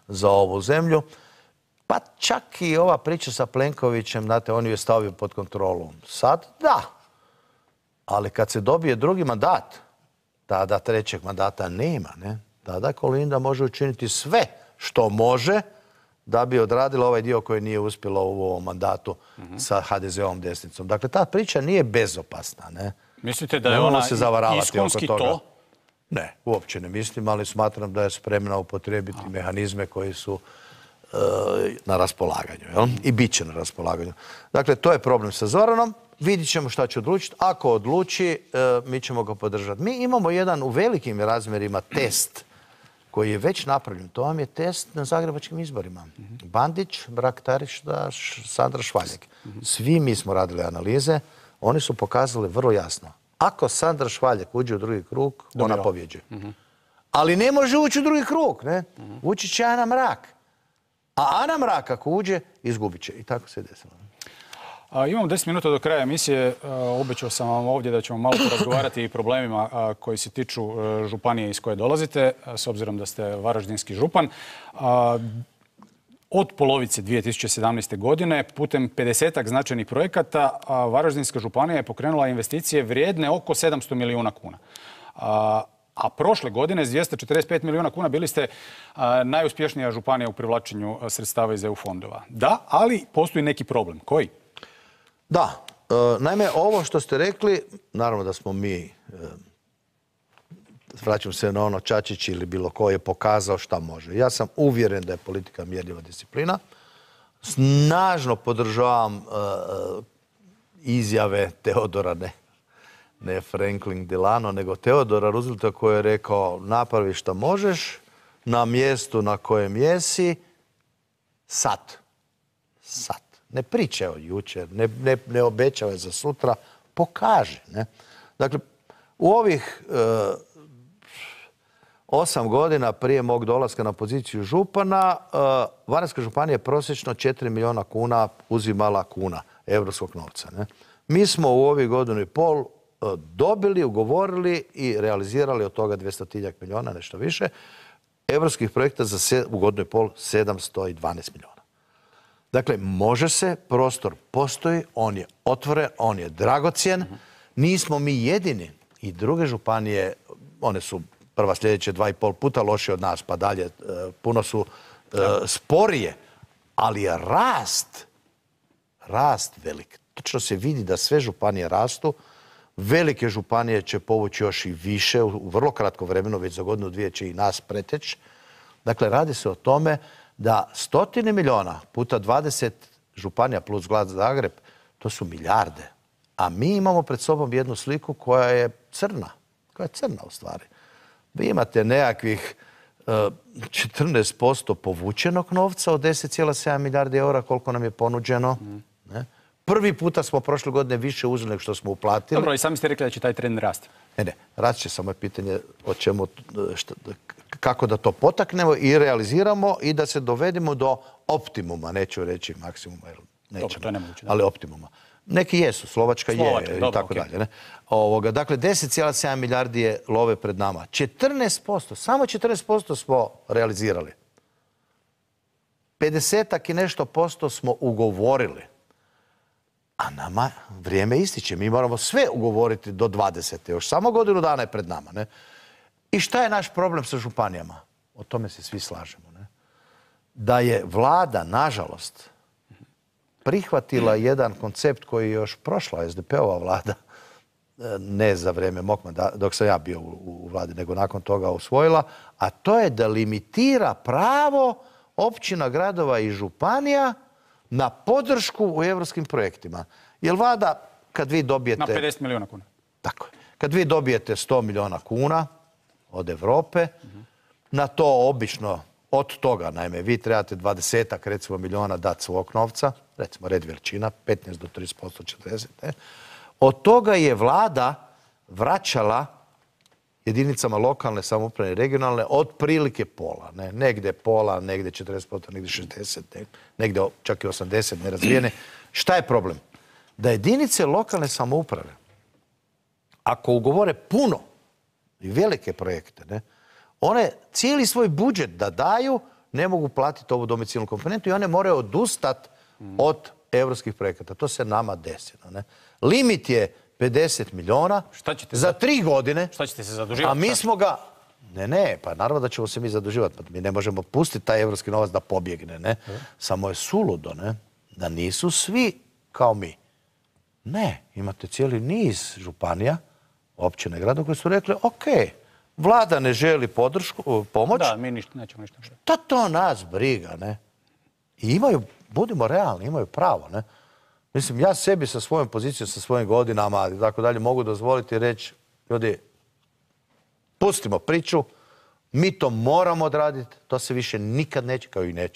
za ovu zemlju. Pa čak i ova priča sa Plenkovićem, znate, on ju je stavio pod kontrolu. Sad, da. Ali kad se dobije drugi mandat, tada trećeg mandata nema, ne? Tada Kolinda može učiniti sve što može da bi odradila ovaj dio koji nije uspjelo u ovom mandatu sa HDZ-ovom desnicom. Dakle, ta priča nije bezopasna, ne? Mislite da je ona iskonski to? Ne, uopće ne mislim, ali smatram da je spremna upotrijebiti mehanizme koji su na raspolaganju, jel? I bit će na raspolaganju. Dakle, to je problem sa Zoranom. vidit ćemo šta će odlučiti. Ako odluči, mi ćemo ga podržati. Mi imamo jedan u velikim razmjerima test koji je već napravljen. To vam je test na zagrebačkim izborima. Bandić, Mrak-Taritaš, Sandra Švaljeg. Svi mi smo radili analize. Oni su pokazali vrlo jasno. Ako Sandra Švaljeg uđe u drugi krug, ona pobjeđuje. Ali ne može ući u drugi krug. Ući će Ana Mrak. A Ana Mrak ako uđe, izgubit će. I tako se desilo. Imamo 10 minuta do kraja emisije. Obećao sam vam ovdje da ćemo malo porazgovarati i problemima koji se tiču županije iz koje dolazite, s obzirom da ste varaždinski župan. Od polovice 2017. godine putem 50-ak značajnih projekata Varaždinska županija je pokrenula investicije vrijedne oko 700 milijuna kuna. A prošle godine s 245 milijuna kuna bili ste najuspješnija županija u privlačenju sredstava iz EU fondova. Da, ali postoji neki problem. Koji? Da. Naime, ovo što ste rekli, naravno da smo mi, vraćam se na ono Čačić ili bilo ko je pokazao šta može. Ja sam uvjeren da je politika mjerljiva disciplina. Snažno podržavam izjave Teodora, ne Franklin Delano, nego Teodora Roosevelta koji je rekao napravi šta možeš na mjestu na kojem jesi sad. Ne pričaj o jučer, ne obećavaj za sutra, pokaži. Dakle, u ovih 8 godina prije mog dolaska na poziciju župana, Varaždinska županija je prosječno 4 milijuna kuna uzimala kuna evropskog novca. Mi smo u ovih godinu i pol dobili, ugovorili i realizirali od toga 200 milijuna, nešto više, evropskih projekta za u godinu i pol 712 milijuna. Dakle, može se, prostor postoji, on je otvoren, on je dragocjen. Nismo mi jedini i druge županije, one su prva sljedeće 2,5 puta lošije od nas, pa dalje, puno su sporije, ali je rast velik. Točno se vidi da sve županije rastu, velike županije će povući još i više u vrlo kratko vremenu, već za godinu dvije će i nas preteći. Dakle, radi se o tome da 100 milijuna puta 20 županija plus grad Zagreb, to su milijarde. A mi imamo pred sobom jednu sliku koja je crna u stvari. Vi imate nekakvih 14% povučenog novca od 10,7 milijardi eura koliko nam je ponuđeno. Prvi puta smo prošle godine više uzeli nego što smo uplatili. Dobro, i sami ste rekli da će taj trend rasti. Ne, rast će, samo je pitanje o čemu, kako da to potaknemo i realiziramo i da se dovedemo do optimuma, neću reći maksimuma, jer nećemo, ali optimuma. Neki jesu, Slovačka je i tako dalje. Dakle, 10,7 milijardi je love pred nama. 14%, samo 14% smo realizirali. 50-ak i nešto posto smo ugovorili. A nama vrijeme ističe. Mi moramo sve ugovoriti do 20. Još samo godinu dana je pred nama. I šta je naš problem sa županijama? O tome se svi slažemo. Da je vlada, nažalost, prihvatila jedan koncept koji je još prošla SDP-ova vlada, ne za vrijeme mog mandata, dok sam ja bio u vladi, nego nakon toga usvojila, a to je da limitira pravo općina, gradova i županija na podršku u europskim projektima. Jer vlada, kad vi dobijete... Na 50 milijuna kuna. Tako je. Kad vi dobijete 100 milijuna kuna od Europe, na to obično, od toga, naime, vi trebate 20-ak, recimo, milijuna dati svog novca, recimo red veličina, 15 do 30%, 40%. Od toga je vlada vraćala jedinicama lokalne samouprave i regionalne otprilike pola. Negdje pola, negdje 40%, negdje 60%, negdje čak i 80% nerazvijene. Šta je problem? Da jedinice lokalne samouprave, ako ugovore puno i velike projekte, one cijeli svoj budžet da daju, ne mogu platiti ovu domicilnu komponentu i one moraju odustati od evropskih projekata. To se nama desilo. Limit je 50 milijuna za 3 godine. Šta ćete se zaduživati? A mi smo ga... Ne, pa naravno da ćemo se mi zaduživati. Mi ne možemo pustiti taj evropski novac da pobjegne. Samo je suludo da nisu svi kao mi. Ne, imate cijeli niz županija, općine i gradova koji su rekli, ok, vlada ne želi pomoć. Da, mi nećemo ništa. To nas briga, I imaju, budimo realni, imaju pravo, Mislim, ja sebi sa svojom pozicijom, sa svojim godinama i tako dalje mogu dozvoliti reći, ljudi, pustimo priču, mi to moramo odraditi, to se više nikad neće,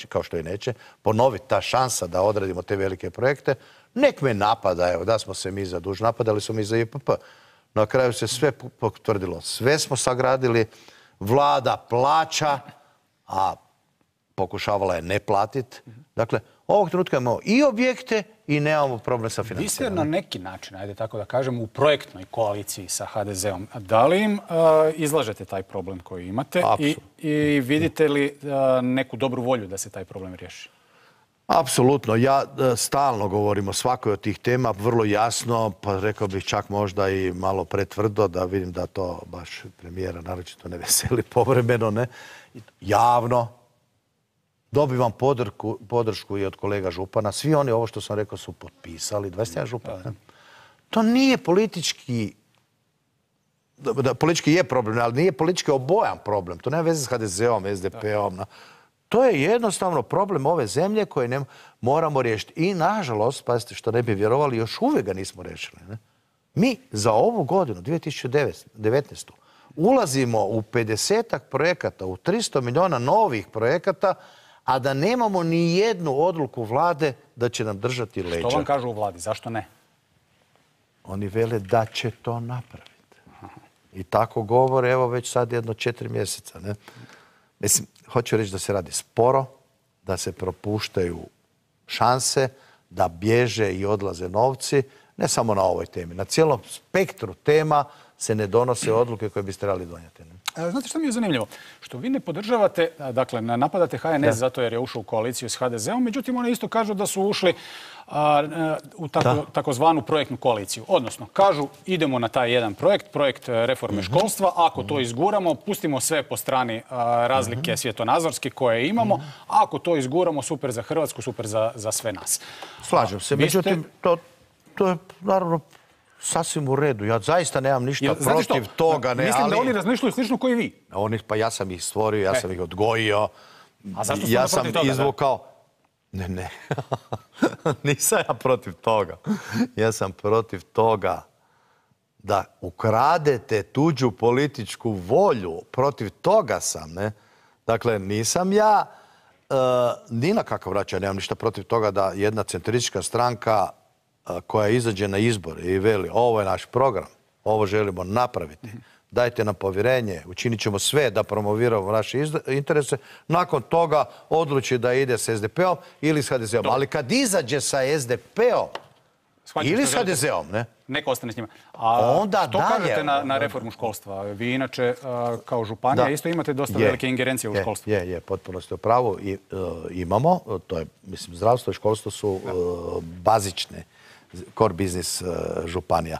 kao što i neće, ponoviti ta šansa da odradimo te velike projekte. Nek me napada, evo, da smo se mi zadužili, napadali smo mi za IPP. Na kraju se sve potvrdilo. Sve smo sagradili, vlada plaća, a pokušavala je ne platiti. Dakle, ovog trenutka imamo i objekte i nemamo problem sa financijama. Vi ste na neki način, ajde tako da kažem, u projektnoj koaliciji sa HDZ-om. Da li im izlažete taj problem koji imate i vidite li neku dobru volju da se taj problem riješi? Apsolutno. Ja stalno govorim o svakoj od tih tema, vrlo jasno, pa rekao bih čak možda i malo pretvrdo, da vidim da to baš premijera naročito ne veseli povremeno, ne? Javno. Dobivam podršku i od kolega župana. Svi oni, ovo što sam rekao, su potpisali. 21 župan. To nije politički... Politički je problem, ali nije politički obojan problem. To nema veze s HDZ-om, SDP-om. To je jednostavno problem ove zemlje koje moramo riješiti. I, nažalost, pazite što ne bi vjerovali, još uvijek ga nismo riješili. Mi za ovu godinu, 2019. ulazimo u 50-ak projekata, u 300 milijuna novih projekata, a da nemamo ni jednu odluku vlade da će nam držati leđa. Što vam kažu u vladi? Zašto ne? Oni vele da će to napraviti. I tako govore, evo već sad 4 mjeseca. Ne? Mislim, hoću reći da se radi sporo, da se propuštaju šanse, da bježe i odlaze novci, ne samo na ovoj temi. Na cijelom spektru tema se ne donose odluke koje biste trebali donijeti. Znate što mi je zanimljivo? Što vi ne podržavate, dakle, napadate HNS zato jer je ušao u koaliciju s HDZ-om, međutim, oni isto kažu da su ušli u takozvanu projektnu koaliciju. Odnosno, kažu idemo na taj jedan projekt reforme školstva, ako to izguramo, pustimo sve po strani razlike svjetonazorske koje imamo, a ako to izguramo, super za Hrvatsku, super za sve nas. Slažem se, međutim, to je naravno sasvim u redu. Ja zaista nemam ništa protiv toga. Mislim da oni razmišljaju slično koji vi. Pa ja sam ih stvorio, ja sam ih odgojio. A zašto ste protiv toga? Ja sam izvukao... Ne. Nisam ja protiv toga. Ja sam protiv toga da ukradete tuđu političku volju. Protiv toga sam, ne? Dakle, nisam ja ni na kakav način. Nemam ništa protiv toga da jedna centristička stranka koja izađe na izbore i veli ovo je naš program, ovo želimo napraviti, dajte nam povjerenje, učinit ćemo sve da promoviramo naše interese, nakon toga odluči da ide s SDP-om ili s HDZ-om. Ali kad izađe sa SDP-om ili s HDZ-om, ne? Neko ostane s njima. A što kažete na reformu školstva? Vi inače kao županija isto imate dosta velike ingerencije u školstvu. Je, potpuno ste u pravu. Imamo, to je, mislim, zdravstvo i školstvo su bazične core biznis županija.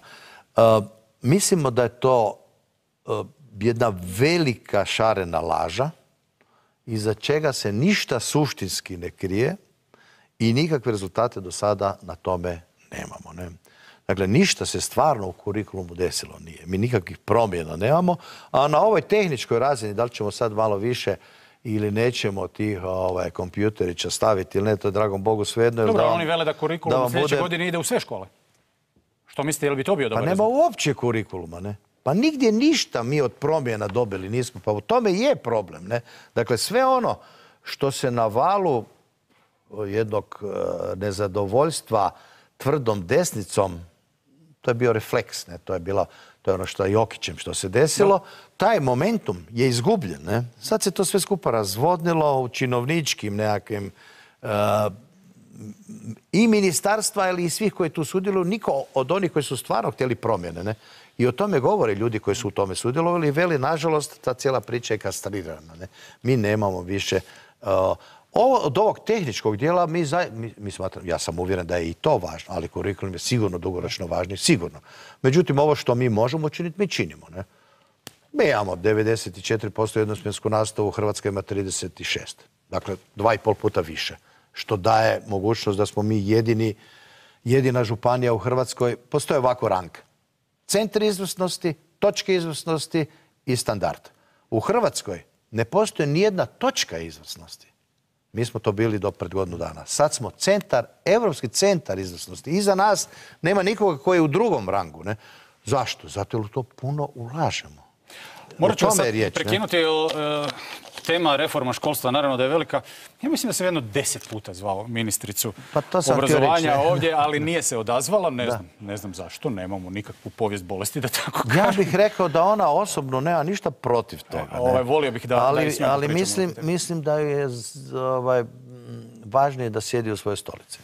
Mislimo da je to jedna velika šarena laža iza čega se ništa suštinski ne krije i nikakve rezultate do sada na tome nemamo. Ne? Dakle, ništa se stvarno u kurikulumu desilo nije. Mi nikakvih promjena nemamo, a na ovoj tehničkoj razini, da li ćemo sad malo više ili nećemo tih kompjuterića staviti ili ne, to je dragom Bogu svejedno. Dobro, oni vele da kurikulum u sljedeće godine ide u sve škole. Što mislite, je li bi to bio dobar rezultat? Pa nema uopće kurikuluma, ne? Pa nigdje ništa mi od promjena dobili nismo, pa u tome je problem, ne? Dakle, sve ono što se na valu jednog nezadovoljstva tvrdom desnicom, to je bio refleks, ne? To je ono što je Jokićem što se desilo. Taj momentum je izgubljen, ne? Sad se to sve skupa razvodnilo u činovničkim nekakvim i ministarstva, ali i svih koji tu sudjeluju, niko od onih koji su stvarno htjeli promjene, ne? I o tome govore ljudi koji su u tome sudjelovali i veli, nažalost, ta cijela priča je kastrirana, ne? Mi nemamo više... Od ovog tehničkog dijela mi smatram, ja sam uvjeren da je i to važno, ali kurikulum je sigurno dugoročno važniji, sigurno. Međutim, ovo što mi možemo učiniti, mi činimo, ne? Mi imamo 94% jednosmjensku nastavu, Hrvatska ima 36%. Dakle, 2,5 puta više. Što daje mogućnost da smo mi jedina županija u Hrvatskoj. Postoje ovako rang. Centri izvrsnosti, točke izvrsnosti i standard. U Hrvatskoj ne postoji nijedna točka izvrsnosti. Mi smo to bili do pred godinu dana. Sad smo evropski centar izvrsnosti. Iza nas nema nikoga koji je u drugom rangu. Ne? Zašto? Zato jer u to puno ulažemo. Morat ću vas sad prekinuti, tema reforma školstva, naravno da je velika. Ja mislim da sam jedno 10 puta zvao ministricu obrazovanja ovdje, ali nije se odazvala. Ne znam zašto, nemamo nikakvu povijest bolesti, da tako kažem. Ja bih rekao da ona osobno nema ništa protiv toga. Volio bih da ali mislim da je važnije da sjedi u svojoj stolici.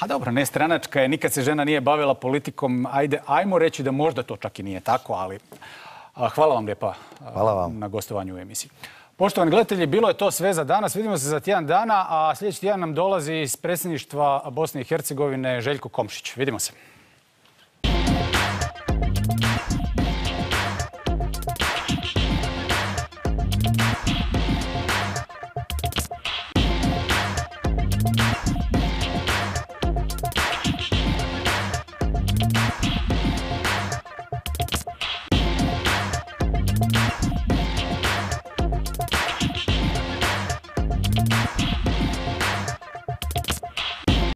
A dobro, nestranačka je, nikad se žena nije bavila politikom. Ajmo reći da možda to čak i nije tako, ali hvala vam lijepa na gostovanju u emisiji. Poštovani gledatelji, bilo je to sve za danas. Vidimo se za tjedan dana, a sljedeći tjedan nam dolazi iz predsjedništva Bosne i Hercegovine Željko Komšić. Vidimo se.